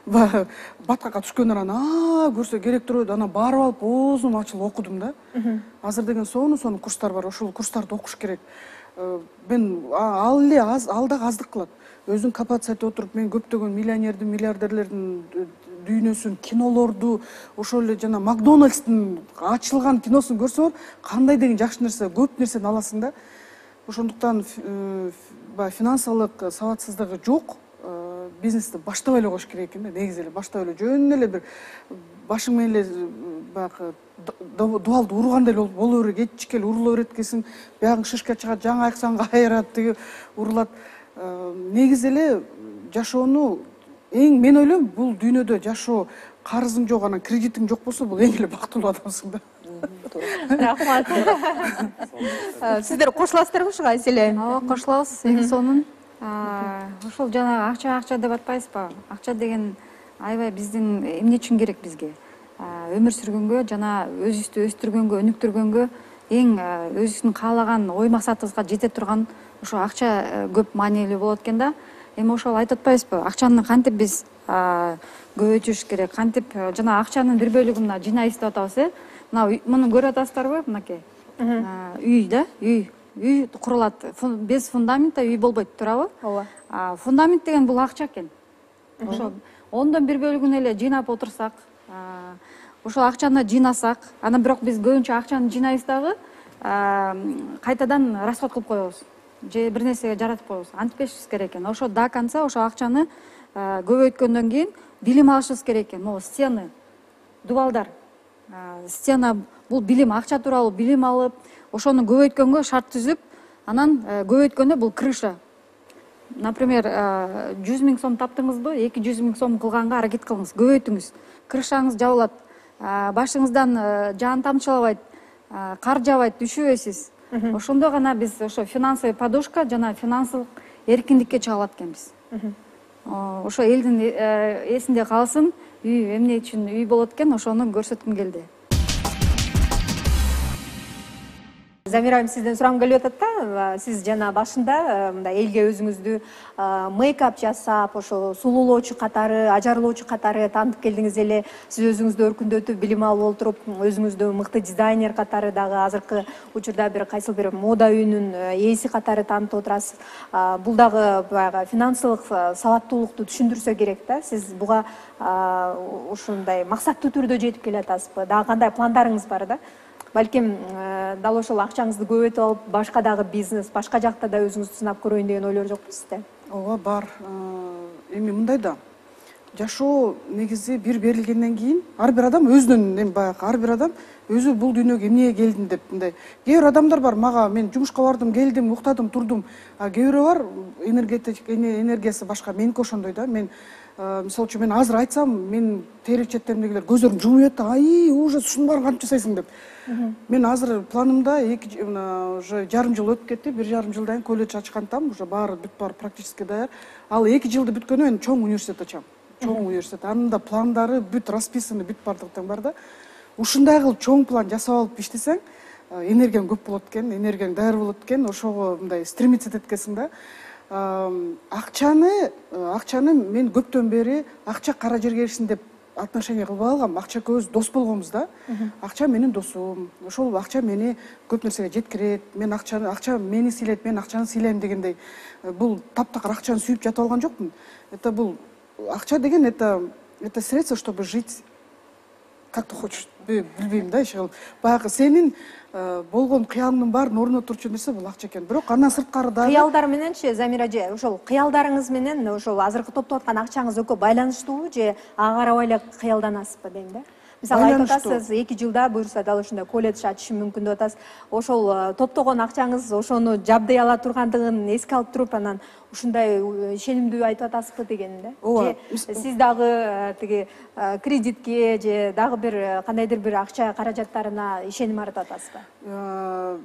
баткакка түшкөндөн анан көрсө керек турбойт, анан барып алып оозум ачылып окудум да. Азыр деген сону сону курстар бар, ошол курстарды окуш керек. мен ал эле аз, ал дагы аздык кылат. Өзүн капацияте отуруп мен көптөгөн миллионердин, миллиардерлердин дүйнөсүн, кинолорду, ошол эле жана Макдональдстын ачылган киносун көрсөң, кандай деген жакшы нерсе, көп нерсени аласың да. Ошондуктан баягы финансылык сабатсыздыгы жок. Бизнести баштабай эле коюш керек экен да, негизи эле баштап эле жөн эле бир башың менен эле баягы дубалды ургандай эле боло берет, кетчик эле урула берет экенсиң, биягың шишка чыгат, жаңы айыксаң кайрат, тиги урулат. Негизи эле жашоону эң мен ойлойм, бул дүйнөдө жашоо карызың жок, анан кредитиң жок болсо, бул эң эле бактылуу адамсың да. Рахмат. Сиздер кошуласыздарбы ушуга, Айселе? Ооба, кошулабыз. Эң сонун ошол жанагы акча акча деп атпайсызбы? Акча деген аябай биздин эмне үчүн керек бизге? Өмүр сүргөнгө жана өзүбүздү өстүргөнгө, өнүктүргөнгө, эң өзүбүздүн каалаган ой максатыбызга жете турган ошо акча көп маанилүү болот экен да. Эми ошол айтып атпайбызбы? Акчаны кантип биз көбөйтүш керек, кантип жана акчанын бир бөлүгүн мына жинайбыз деп атабыз, э? Мына муну көрүп атасыздарбы, мынакей? Үй да, үй. Үй курулат. Без фундамента үй болбойт, туурабы? Ооба. Фундамент деген бул акча экен. Ошо ондон бир бөлүгүн эле жыйнап отурсак, ошол акчаны жыйнасак, анан бирок биз көбүнчө акчаны жыйнайбыз дагы кайтадан расход кылып коебуз. Же бир нерсеге жаратып коебуз. Антпешибиз керек экен. Ошо до конца ошо акчаны көбөйткөндөн кийин билим алышыбыз керек экен. Могу стены, дубалдар. Стена бул билим, акча тууралуу билим алып, ошону көбөйткөнгө шарт түзүп, анан көбөйткөндө бул крыша. Например, жүз миң сом таптыңызбы, эки жүз миң сом кылганга аракет кылыңыз, көбөйтүңүз. Крышаңыз жабылат, башыңыздан жаан тамчылабайт, кар жабайт, түшүбөйсүз. Ошондо гана биз ошо финансовый подушка жана финансылык эркиндикке чыга алат экенбиз. Ошо элдин эсинде калсын, үй эмне үчүн үй болот экен, ошону көрсөткүм келди. Замира айым, сизден сурагым келип атат да, сиз жана башында мындай элге өзүңүздү мейкап жасап, ошо сулуулоочу катары, ажарлоочу катары таанытып келдиңиз эле. Сиз өзүңүздү өркүндөтүп, билим алып отуруп, өзүңүздү мыкты дизайнер катары дагы азыркы учурда бир кайсыл бир мода үйүнүн ээси катары таанытып отурасыз. Бул дагы баягы финансылык сабаттуулукту түшүндүрсө керек да. Сиз буга ушундай максаттуу түрдө жетип келатасызбы? Дагы кандай пландарыңыз бар да? Балким дал ошол акчаңызды көбөйтүп алып, башка дагы бизнес, башка жакта да өзүңүздү сынап көрөйүн деген ойлор жокпу сизде? Ооба, бар. Эми мындай да. Жашоо негизи бир берилгенден кийин ар бир адам өзүнүн, эми баягы ар бир адам өзү бул дүйнөгө эмнеге келдим деп мындай. Кээ бир адамдар бар, мага мен жумушка бардым, келдим, уктадым, турдум. А кээ бирөө бар, энергиясы башка. Меники ошондой да. Мен мисалы үчүн мен азыр айтсам, мен тери четтеримдегилер көздөрүн жумуп атат, ай, ужас, ушуну баарын кантип жасайсың деп. Мен азыр планымда эки уже жарым жыл өтүп кетти, бир жарым жылдан кийин колледж ачкантам, уже баары бүт баары практически даяр. Ал эки жылды бүткөндөн мен чоң университет ачам. Чоң университет. Анын да пландары бүт расписаны, бүт баардыгы бар да. Ушундай кылып чоң план жасап алып иштесең, энергияң көп болот экен, энергияң даяр болот экен, ошого мындай стремиться этет экенсиң да. Акчаны, акчаны мен көптөн бери акча кара жерге эришсин деп отношение кылбай алгам. Акча көз дос болгонбуз да. Акча менин досум. Ошол акча мени көп нерсеге жеткирет. Мен акчаны, акча мени сыйлайт, мен акчаны сыйлайм дегендей. Бул таптакыр акчаны сүйүп жатып алган жокмун. Это бул акча деген это это средство, чтобы жить как ты хочешь. Билбейм да, иши кылып. Баягы сенин болгон кыялыңдын баарын орнуна турчу нерсе бул акча экен. Бирок андан сырткары дагы кыялдар мененчи, Замира эже, ошол кыялдарыңыз менен ошол азыркы топтоп аткан акчаңыз экөө байланыштуубу же ага карабай эле кыялданасызбы дейм да? Мисалы айтып атасыз, эки жылда буюрса дал ушундай колледж ачышым мүмкүн деп атасыз. Ошол топтогон акчаңыз ошону жабдый ала тургандыгын эске алып туруп, анан ушундай ишенимдүү айтып атасызбы деген да? Ооба. Сиз дагы тиги кредитке же дагы бир кандайдыр бир акча каражаттарына ишеним аратып атасызбы?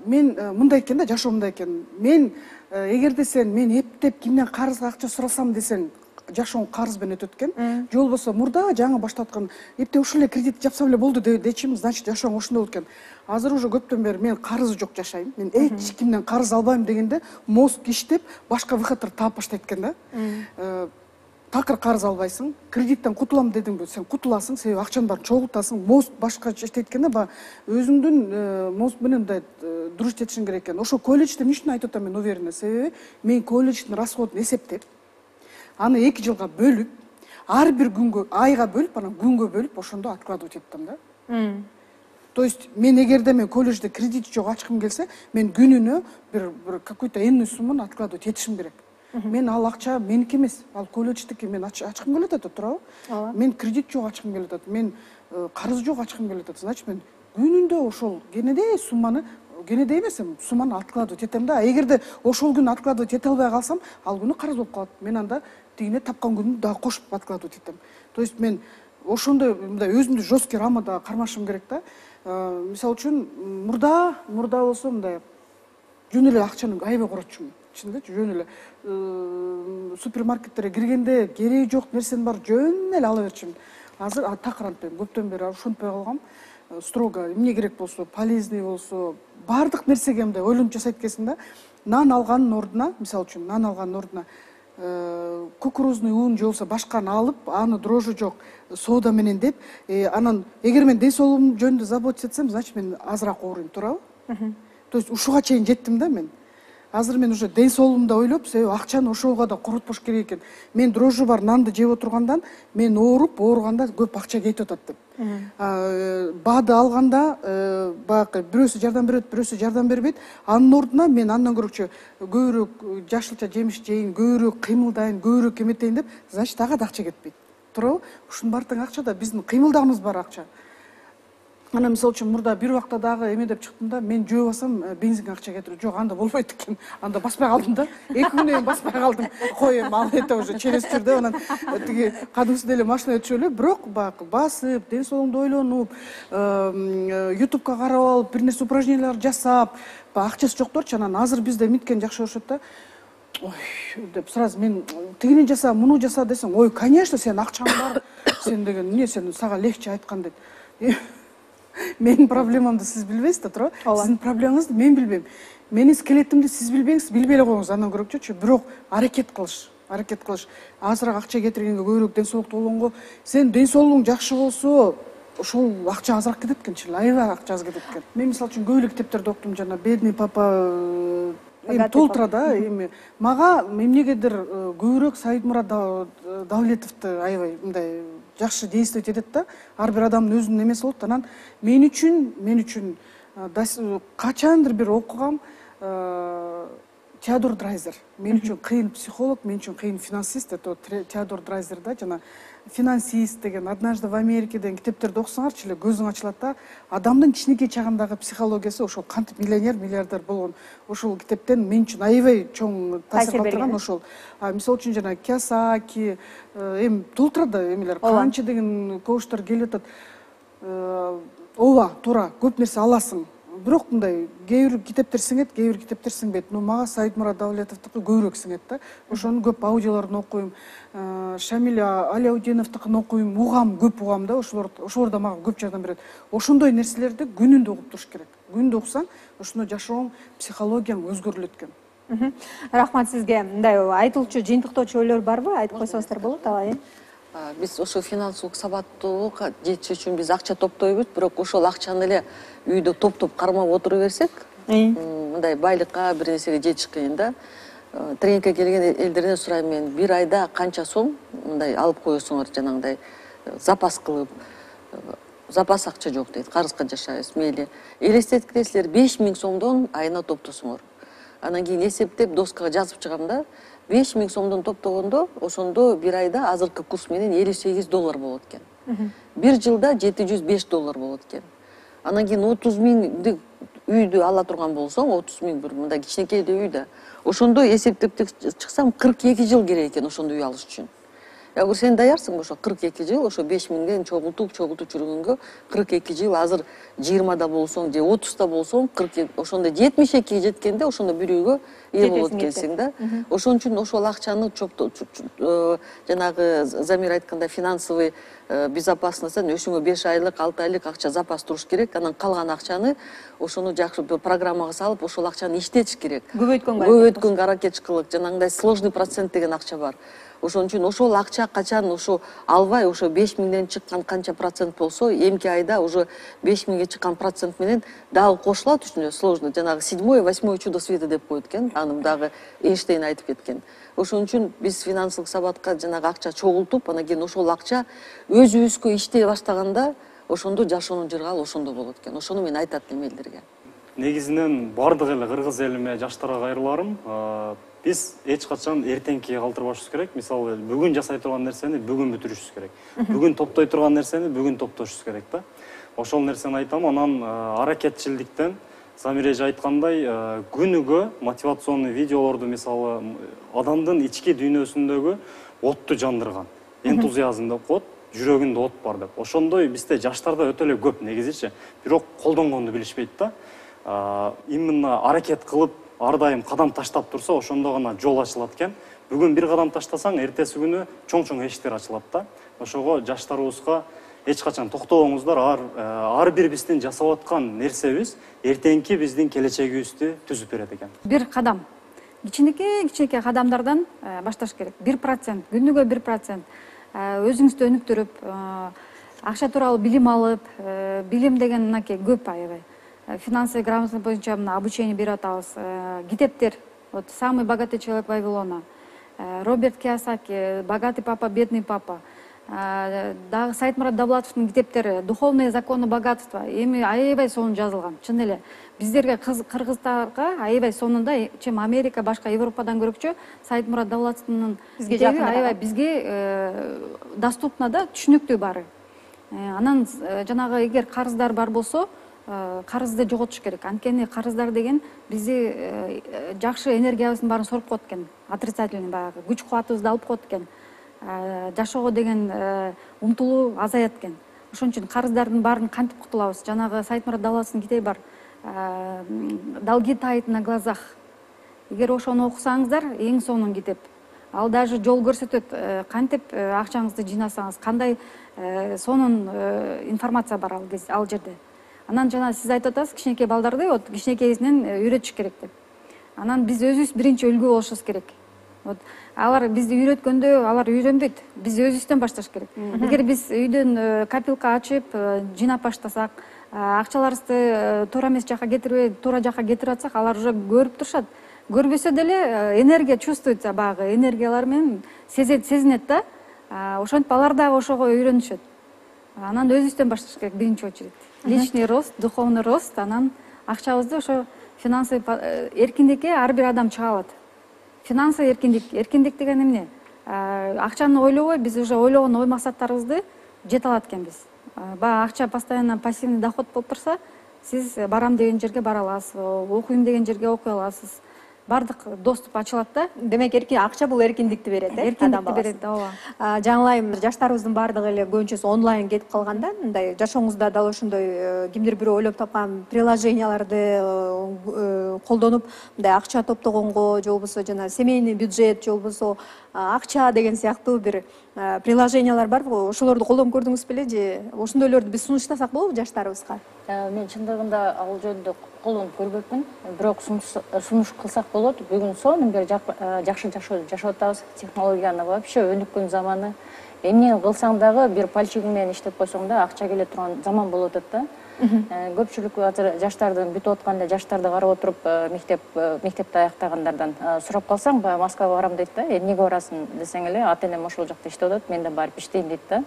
Мен мындай экен да, жашоо мындай экен. Мен эгерде сен мен эптеп кимден карызга акча сурасам десең, жашооң карыз менен өтөт экен. Же болбосо мурда жаңы баштаткан эптеп ушул эле кредит жапсам эле болду дечим, значит жашооң ошондой болот экен. Азыр уже көптөн бери мен карызы жок жашайм. Мен эч кимден карыз албайм дегенде мозг иштеп, башка выходтор таап баштайт экен да. такыр карыз албайсың, кредиттен кутулам дедиңби, сен кутуласың, себеби акчанын баарын чогултасың. Мост башкача айтканда баягы өзүңдүн мост менен мындай дуруш жетишиң керек экен. Ошо колледжде эмне үчүн айтып атам мен уверена, себеби мен колледждин расходун эсептеп, аны эки жылга бөлүп, ар бир күнгө, айга бөлүп, анан күнгө бөлүп, ошондо откладывать еттим да. То есть мен эгерде мен колледжде кредит жок ачкым келсе, мен күнүнө бир бир какой-то энный сумманы откладывать этишим керек. Мен ал акча меники эмес, ал колледждики. Мен ачкым келип атат, туурабы? Мен кредит жок ачкым келип атат, мен карыз жок ачкым келип атат. Значит, мен күнүндө ошол кенедей сумманы, кенедей эмес, сумманы откладывать этем да. Эгерде ошол күнү откладывать эте албай калсам, ал күнү карыз болуп калат. Мен анда тигине тапкан күнү дагы кошуп откладывать этем. То есть мен ошондой мындай өзүмдү жесткий рамада кармашым керек да. Мисалы үчүн мурда, мурда болсо мындай жөн эле акчаны аябай коротчумун. Чындыгы жөн эле супермаркеттерге киргенде кереги жок нерсенин баары жөн эле ала берчүмүн. Азыр такыр антпайм, көптөн бери ушунтпай калгам. Строго эмне керек болсо, полезный болсо, баардык нерсеге мындай ойлонуп жасайт экенсиң да. Нан алганын ордуна, мисалы үчүн нан алганын ордуна кукурузный ун же болбосо башканы алып, аны дрожжи жок соода менен деп, анан эгер мен ден соолугум жөнүндө заботиться этсем, значит мен азыраак ооруйм, туурабы? То есть ушуга чейин жеттим да мен. Азыр мен уже ден соолугумду ойлоп, себеби акчаны ошого да коротпош керек экен. Мен дрожжи бар нанды жеп отургандан мен ооруп, ооруганда көп акча кетип атат деп. Баады алганда баягы бирөөсү жардам берет, бирөөсү жардам бербейт. Анын ордуна мен андан көрөкчө көбүрөөк жашылча жемиш жейин, көбүрөөк кыймылдайын, көбүрөөк эметейин деп, значит ага да акча кетпейт. Туурабы? Ушунун баардыгы акча да, биздин кыймылдагыбыз бар акча. Анан мисалы үчүн мурда бир убакта дагы эме деп чыктым да, мен жөө басам бензинге акча кетирип, жок, анда болбойт экен. Анда баспай калдым да. эки күнөн баспай калдым. Кой эми ал это уже через жүрдү, анан тиги кадымгысы деле машина өтүшүп эле, бирок баягы басып, ден соолугумду ойлонуп, ютубка карап алып, бир нерсе упражнениялар жасап, акчасы жокторчу, анан азыр бизде эмиткен жакшы болушот да. Ой, деп сразу мен тигини жаса, муну жаса десең, ой, конечно, сен акчаң бар. Сен деген эмне, сен сага легче айткан дейт. Менин проблемамды сиз билбейсиз да, туурабы? Сиздин проблемаңызды мен билбейм. Менин скелетимди сиз билбеңиз, билбей эле коюңуз, андан көрөкчүчү. Бирок аракет кылыш, аракет кылыш. Азыраак акча кетиргенге, көбүрөөк ден соолуктуу болгонго, сен ден соолугуң жакшы болсо, ошол акча азыраак кетет экенчи, аябай акча аз кетет экен. Мен мисалы үчүн көп эле китептерди окудум, жана бедный папа эми толтура да, эми мага эмнегедир көбүрөөк Саидмурат Давлетовду аябай мындай жакшы действовать этет да. Ар бир адамдын өзүнүн эмеси болот. Анан мен үчүн, мен үчүн качандыр бир окугам Теодор Драйзер. Мен үчүн кыйын психолог, мен үчүн кыйын финансист. Это Теодор Драйзер да, жана финансист деген, однажды в Америке деген китептерди окусаңарчы эле көзүң ачылат да. Адамдын кичинекей чагындагы психологиясы ошол кантип миллионер, миллиардер болгон ошол китептен мен үчүн аябай чоң таасир калтырган ошол. Мисалы үчүн жана Кийосаки, эми толтура да эмелер, канча деген коучтар келип атат. Ооба, туура, көп нерсе аласың. Бирок мындай кээ бир китептер сиңет, кээ бир китептер сиңбейт. Но мага Саидмурат Давлетовдуку көбүрөөк сиңет да. Ошонун көп аудиолорун окуйм. Шамиль Аляутдиновдукун окуйм, угам, көп угам да. Ошолор ошолор да мага көп жардам берет. Ошондой нерселерди күнүндө окуп туруш керек. Күнүндө окусаң, ошондо жашооң, психологияң өзгөрүлөт экен. Рахмат сизге. Мындай айтылчу, жыйынтыктоочу ойлор барбы? Айтып койсоңуздар болот, алайын. Биз ошо финансылык сабаттуулукка жетиш үчүн биз акча топтойбуз, бирок ошол акчаны эле үйдө топтоп кармап отура берсек, мындай байлыкка, бир нерсеге жетиш кыйын да. Тренингке келген элдерден сурайм мен, бир айда канча сом мындай алып коесуңар, жанагындай запас кылып, запас акча жок дейт, карызга жашайбыз, мейли. Элестеткилесиздер, беш миң сомдон айына топтосуңар. Анан кийин эсептеп доскага жазып чыгам да. беш миң сомдон топтогондо, ошондо бир айда азыркы курс менен элүү сегиз доллар болот экен. Бир жылда жети жүз беш доллар болот экен. Анан кийин отуз миңди үйдү ала турган болсоң, отуз миң бир мындай кичинекей үйдө, ошондо эсептеп чыксам кырк эки жыл керек экен ошондой үй алыш үчүн. Ягыр сен даярсың ошо кырк эки жыл, ошо беш миңден чогултуп, чогултуп жүргөнгө кырк эки жыл, азыр жыйырмада болсоң же отузда болсоң, ошондо жетимиш экиге жеткенде ошондо бир үйгө ээ болот экенсиң да. Ошон үчүн ошол акчаны жанагы Замир айткандай финансовый безопасностьтан өзүңө беш айлык, алты айлык акча запас туруш керек. Анан калган акчаны ошону жакшы программага салып, ошол акчаны иштетиш керек. Көбөйткөнгө көбөйткөнгө аракет кылып, жанагындай сложный процент деген акча бар. ошон үчүн ошол акча качан ошо албай ошо беш миңден чыккан канча процент болсо эмки айда уже беш миңге чыккан процент менен дагы кошулат үчүнө сложно жанагы седьмое восьмое чудо света деп коет экен анын дагы Эйнштейн айтып кеткен. Ошон үчүн биз финансылык сабатка жанагы акча чогултуп анан кийин ошол акча өзүбүзгө иштей баштаганда ошондо жашоонун жыргалы ошондо болот экен. Ошону мен айтат элем элдерге. Негизинен бардык эле кыргыз элиме жаштарга кайрыларым, биз эч качан эртеңкиге калтырбашыбыз керек. Мисалы, бүгүн жасай турган нерсени бүгүн бүтүрүшүбүз керек. Бүгүн топтой турган нерсени бүгүн топтошубуз керек да. Ошол нерсени айтам. Анан аракетчилдиктен Замир эже айткандай, күнүгө мотивационный видеолорду мисалы адамдын ички дүйнөсүндөгү отту жандырган, энтузиазм деп коет, жүрөгүндө от бар деп. Ошондой бизде жаштарда өтө эле көп негизичи, бирок колдонгонду билишпейт да. Именно аракет кылып, ар дайым кадам таштап турса, ошондо гана жол ачылат экен. Бүгүн бир кадам таштасаң, эртеси күнү чоң-чоң эшиктер ачылат да. Ошого жаштарыбызга эч качан токтобоңуздар, ар ар бир биздин жасап аткан нерсебиз эртеңки биздин келечегибизди түзүп берет экен. Бир кадам, кичинекей кичинекей кадамдардан башташ керек. бир процент, күнүгө бир процент өзүңүздү өнүктүрүп, акча тууралуу билим алып, билим деген мынакей көп аябай. Финансовый грамотность боюнча мына обучение берип атабыз. Китептер, вот «Самый богатый человек Вавилона», Роберт Кийосаки, «Богатый папа, бедный папа», дагы Сайтмурат Давлатовдун китептери «Духовные законы богатства». Эми аябай сонун жазылган. Чын эле биздерге кыргыздарга аябай сонунда, чем Америка, башка Европадан көрөкчө Сайтмурат Давлатовдун китеби аябай бизге доступна да, түшүнүктүү баары. Анан жанагы эгер карыздар бар болсо, карызды жоготуш керек. Анткени карыздар деген бизди жакшы энергиябыздын баарын соруп коет экен. Отрицательный баягы күч кубатыбызды алып коет экен. Жашоого деген умтулуу азаят экен. Ошон үчүн карыздардын баарын кантип кутулабыз? Жанагы Сайтмурат Давлатовдун китеби бар. Долги тают на глазах. Эгер ошону окусаңыздар, эң сонун китеп. Ал даже жол көрсөтөт, кантип акчаңызды жыйнасаңыз, кандай сонун информация бар ал жерде. Анан жана сиз айтып атасыз, кичинекей балдарды вот кичинекейинен үйрөтүш керек деп. Анан биз өзүбүз биринчи үлгү болушубуз керек. Вот алар бизди үйрөткөндө алар үйрөнбөйт. Биз өзүбүздөн башташ керек. Эгер биз үйдөн копилка ачып, жыйнап баштасак, акчаларыбызды туура эмес жака кетирбей, туура жака кетирип атсак, алар уже көрүп турушат. Көрбөсө деле энергия чувствуется, баягы энергиялар менен сезинет да. Ошентип алар дагы ошого үйрөнүшөт. Анан өзүбүздөн башташ керек биринчи очередь. Личный рост, духовный рост, анан акчабызды ошо финансовый эркиндикке ар бир адам чыга алат. Финансовый эркиндик, эркиндик деген эмне? Акчаны ойлобой, биз уже ойлогон ой максаттарыбызды жете алат экенбиз. Баягы акча постоянно пассивный доход болуп турса, сиз барам деген жерге бара аласыз, окуйм деген жерге окуй аласыз. Бардык доступ ачылат да. Демек эркин акча бул эркиндикти берет, э? Эркиндикти берет, ооба. Жаңылайым, жаштарыбыздын бардыгы эле көбүнчөсү онлайн кетип калганда, мындай жашооңузда дал ошондой кимдир бирөө ойлоп тапкан приложенияларды колдонуп, мындай акча топтогонго, же болбосо жана семейный бюджет, же болбосо акча деген сыяктуу бир приложениялар барбы? Ошолорду колдонуп көрдүңүз беле же ошондойлорду биз сунуштасак болобу жаштарыбызга? Мен чындыгында ал жөнүндө колдонуп көрбөпмүн, бирок сунуш кылсак болот. Бүгүн сонун бир жакшы жашап атабыз. Технологиянын вообще өнүккөн заманы. Эмне кылсаң дагы бир пальчигиң менен иштеп койсоң да акча келе турган заман болуп атат да. Көпчүлүк азыр жаштардын бүтүп аткан эле жаштарды карап отуруп, мектеп мектепти аяктагандардан сурап калсаң, баягы Москвага барам дейт да. Эмнеге барасың десең эле, ата энем ошол жакта иштеп атат, мен да барып иштейм дейт да.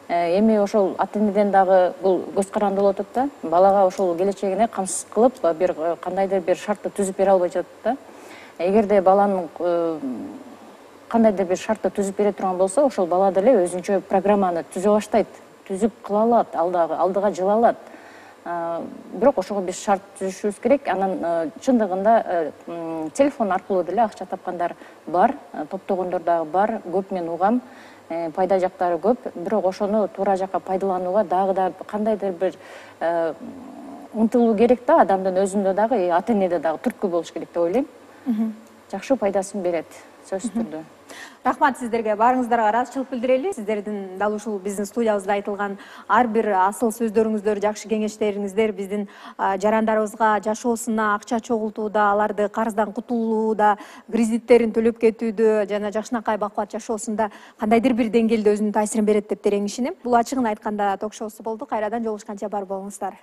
Эми ошол ата энеден дагы бул көз каранды болуп атат да. Балага ошол келечегине камсыз кылып, бир кандайдыр бир шартты түзүп бере албай жатат да. Эгерде баланын кандайдыр бир шартты түзүп бере турган болсо, ошол бала деле өзүнчө программаны түзө баштайт, түзүп кыла алат, алдыга жыла алат. Бирок ошого биз шарт түзүшүбүз керек. Анан чындыгында телефон аркылуу деле акча тапкандар бар, топтогондор дагы бар, көп мен угам. Пайда жактары көп, бирок ошону туура жакка пайдаланууга дагы да кандайдыр бир умтулуу керек да, адамдын өзүндө дагы, ата энеде дагы түрткү болуш керек деп ойлойм. Жакшы пайдасын берет, сөзсүз түрдө. Рахмат сиздерге, баарыңыздарга ыраазычылык билдирели. Сиздердин дал ушул биздин студиябызда айтылган ар бир асыл сөздөрүңүздөр, жакшы кеңештериңиздер биздин жарандарыбызга жашоосуна акча чогултууда, аларды карыздан кутулууда, кредиттерин төлөп кетүүдө жана жакшынакай бакубат жашоосунда кандайдыр бир деңгээлде өзүнүн таасирин берет деп терең ишенем. Бул ачыгын айтканда ток шоусу болду. Кайрадан жолугушканча бар болуңуздар.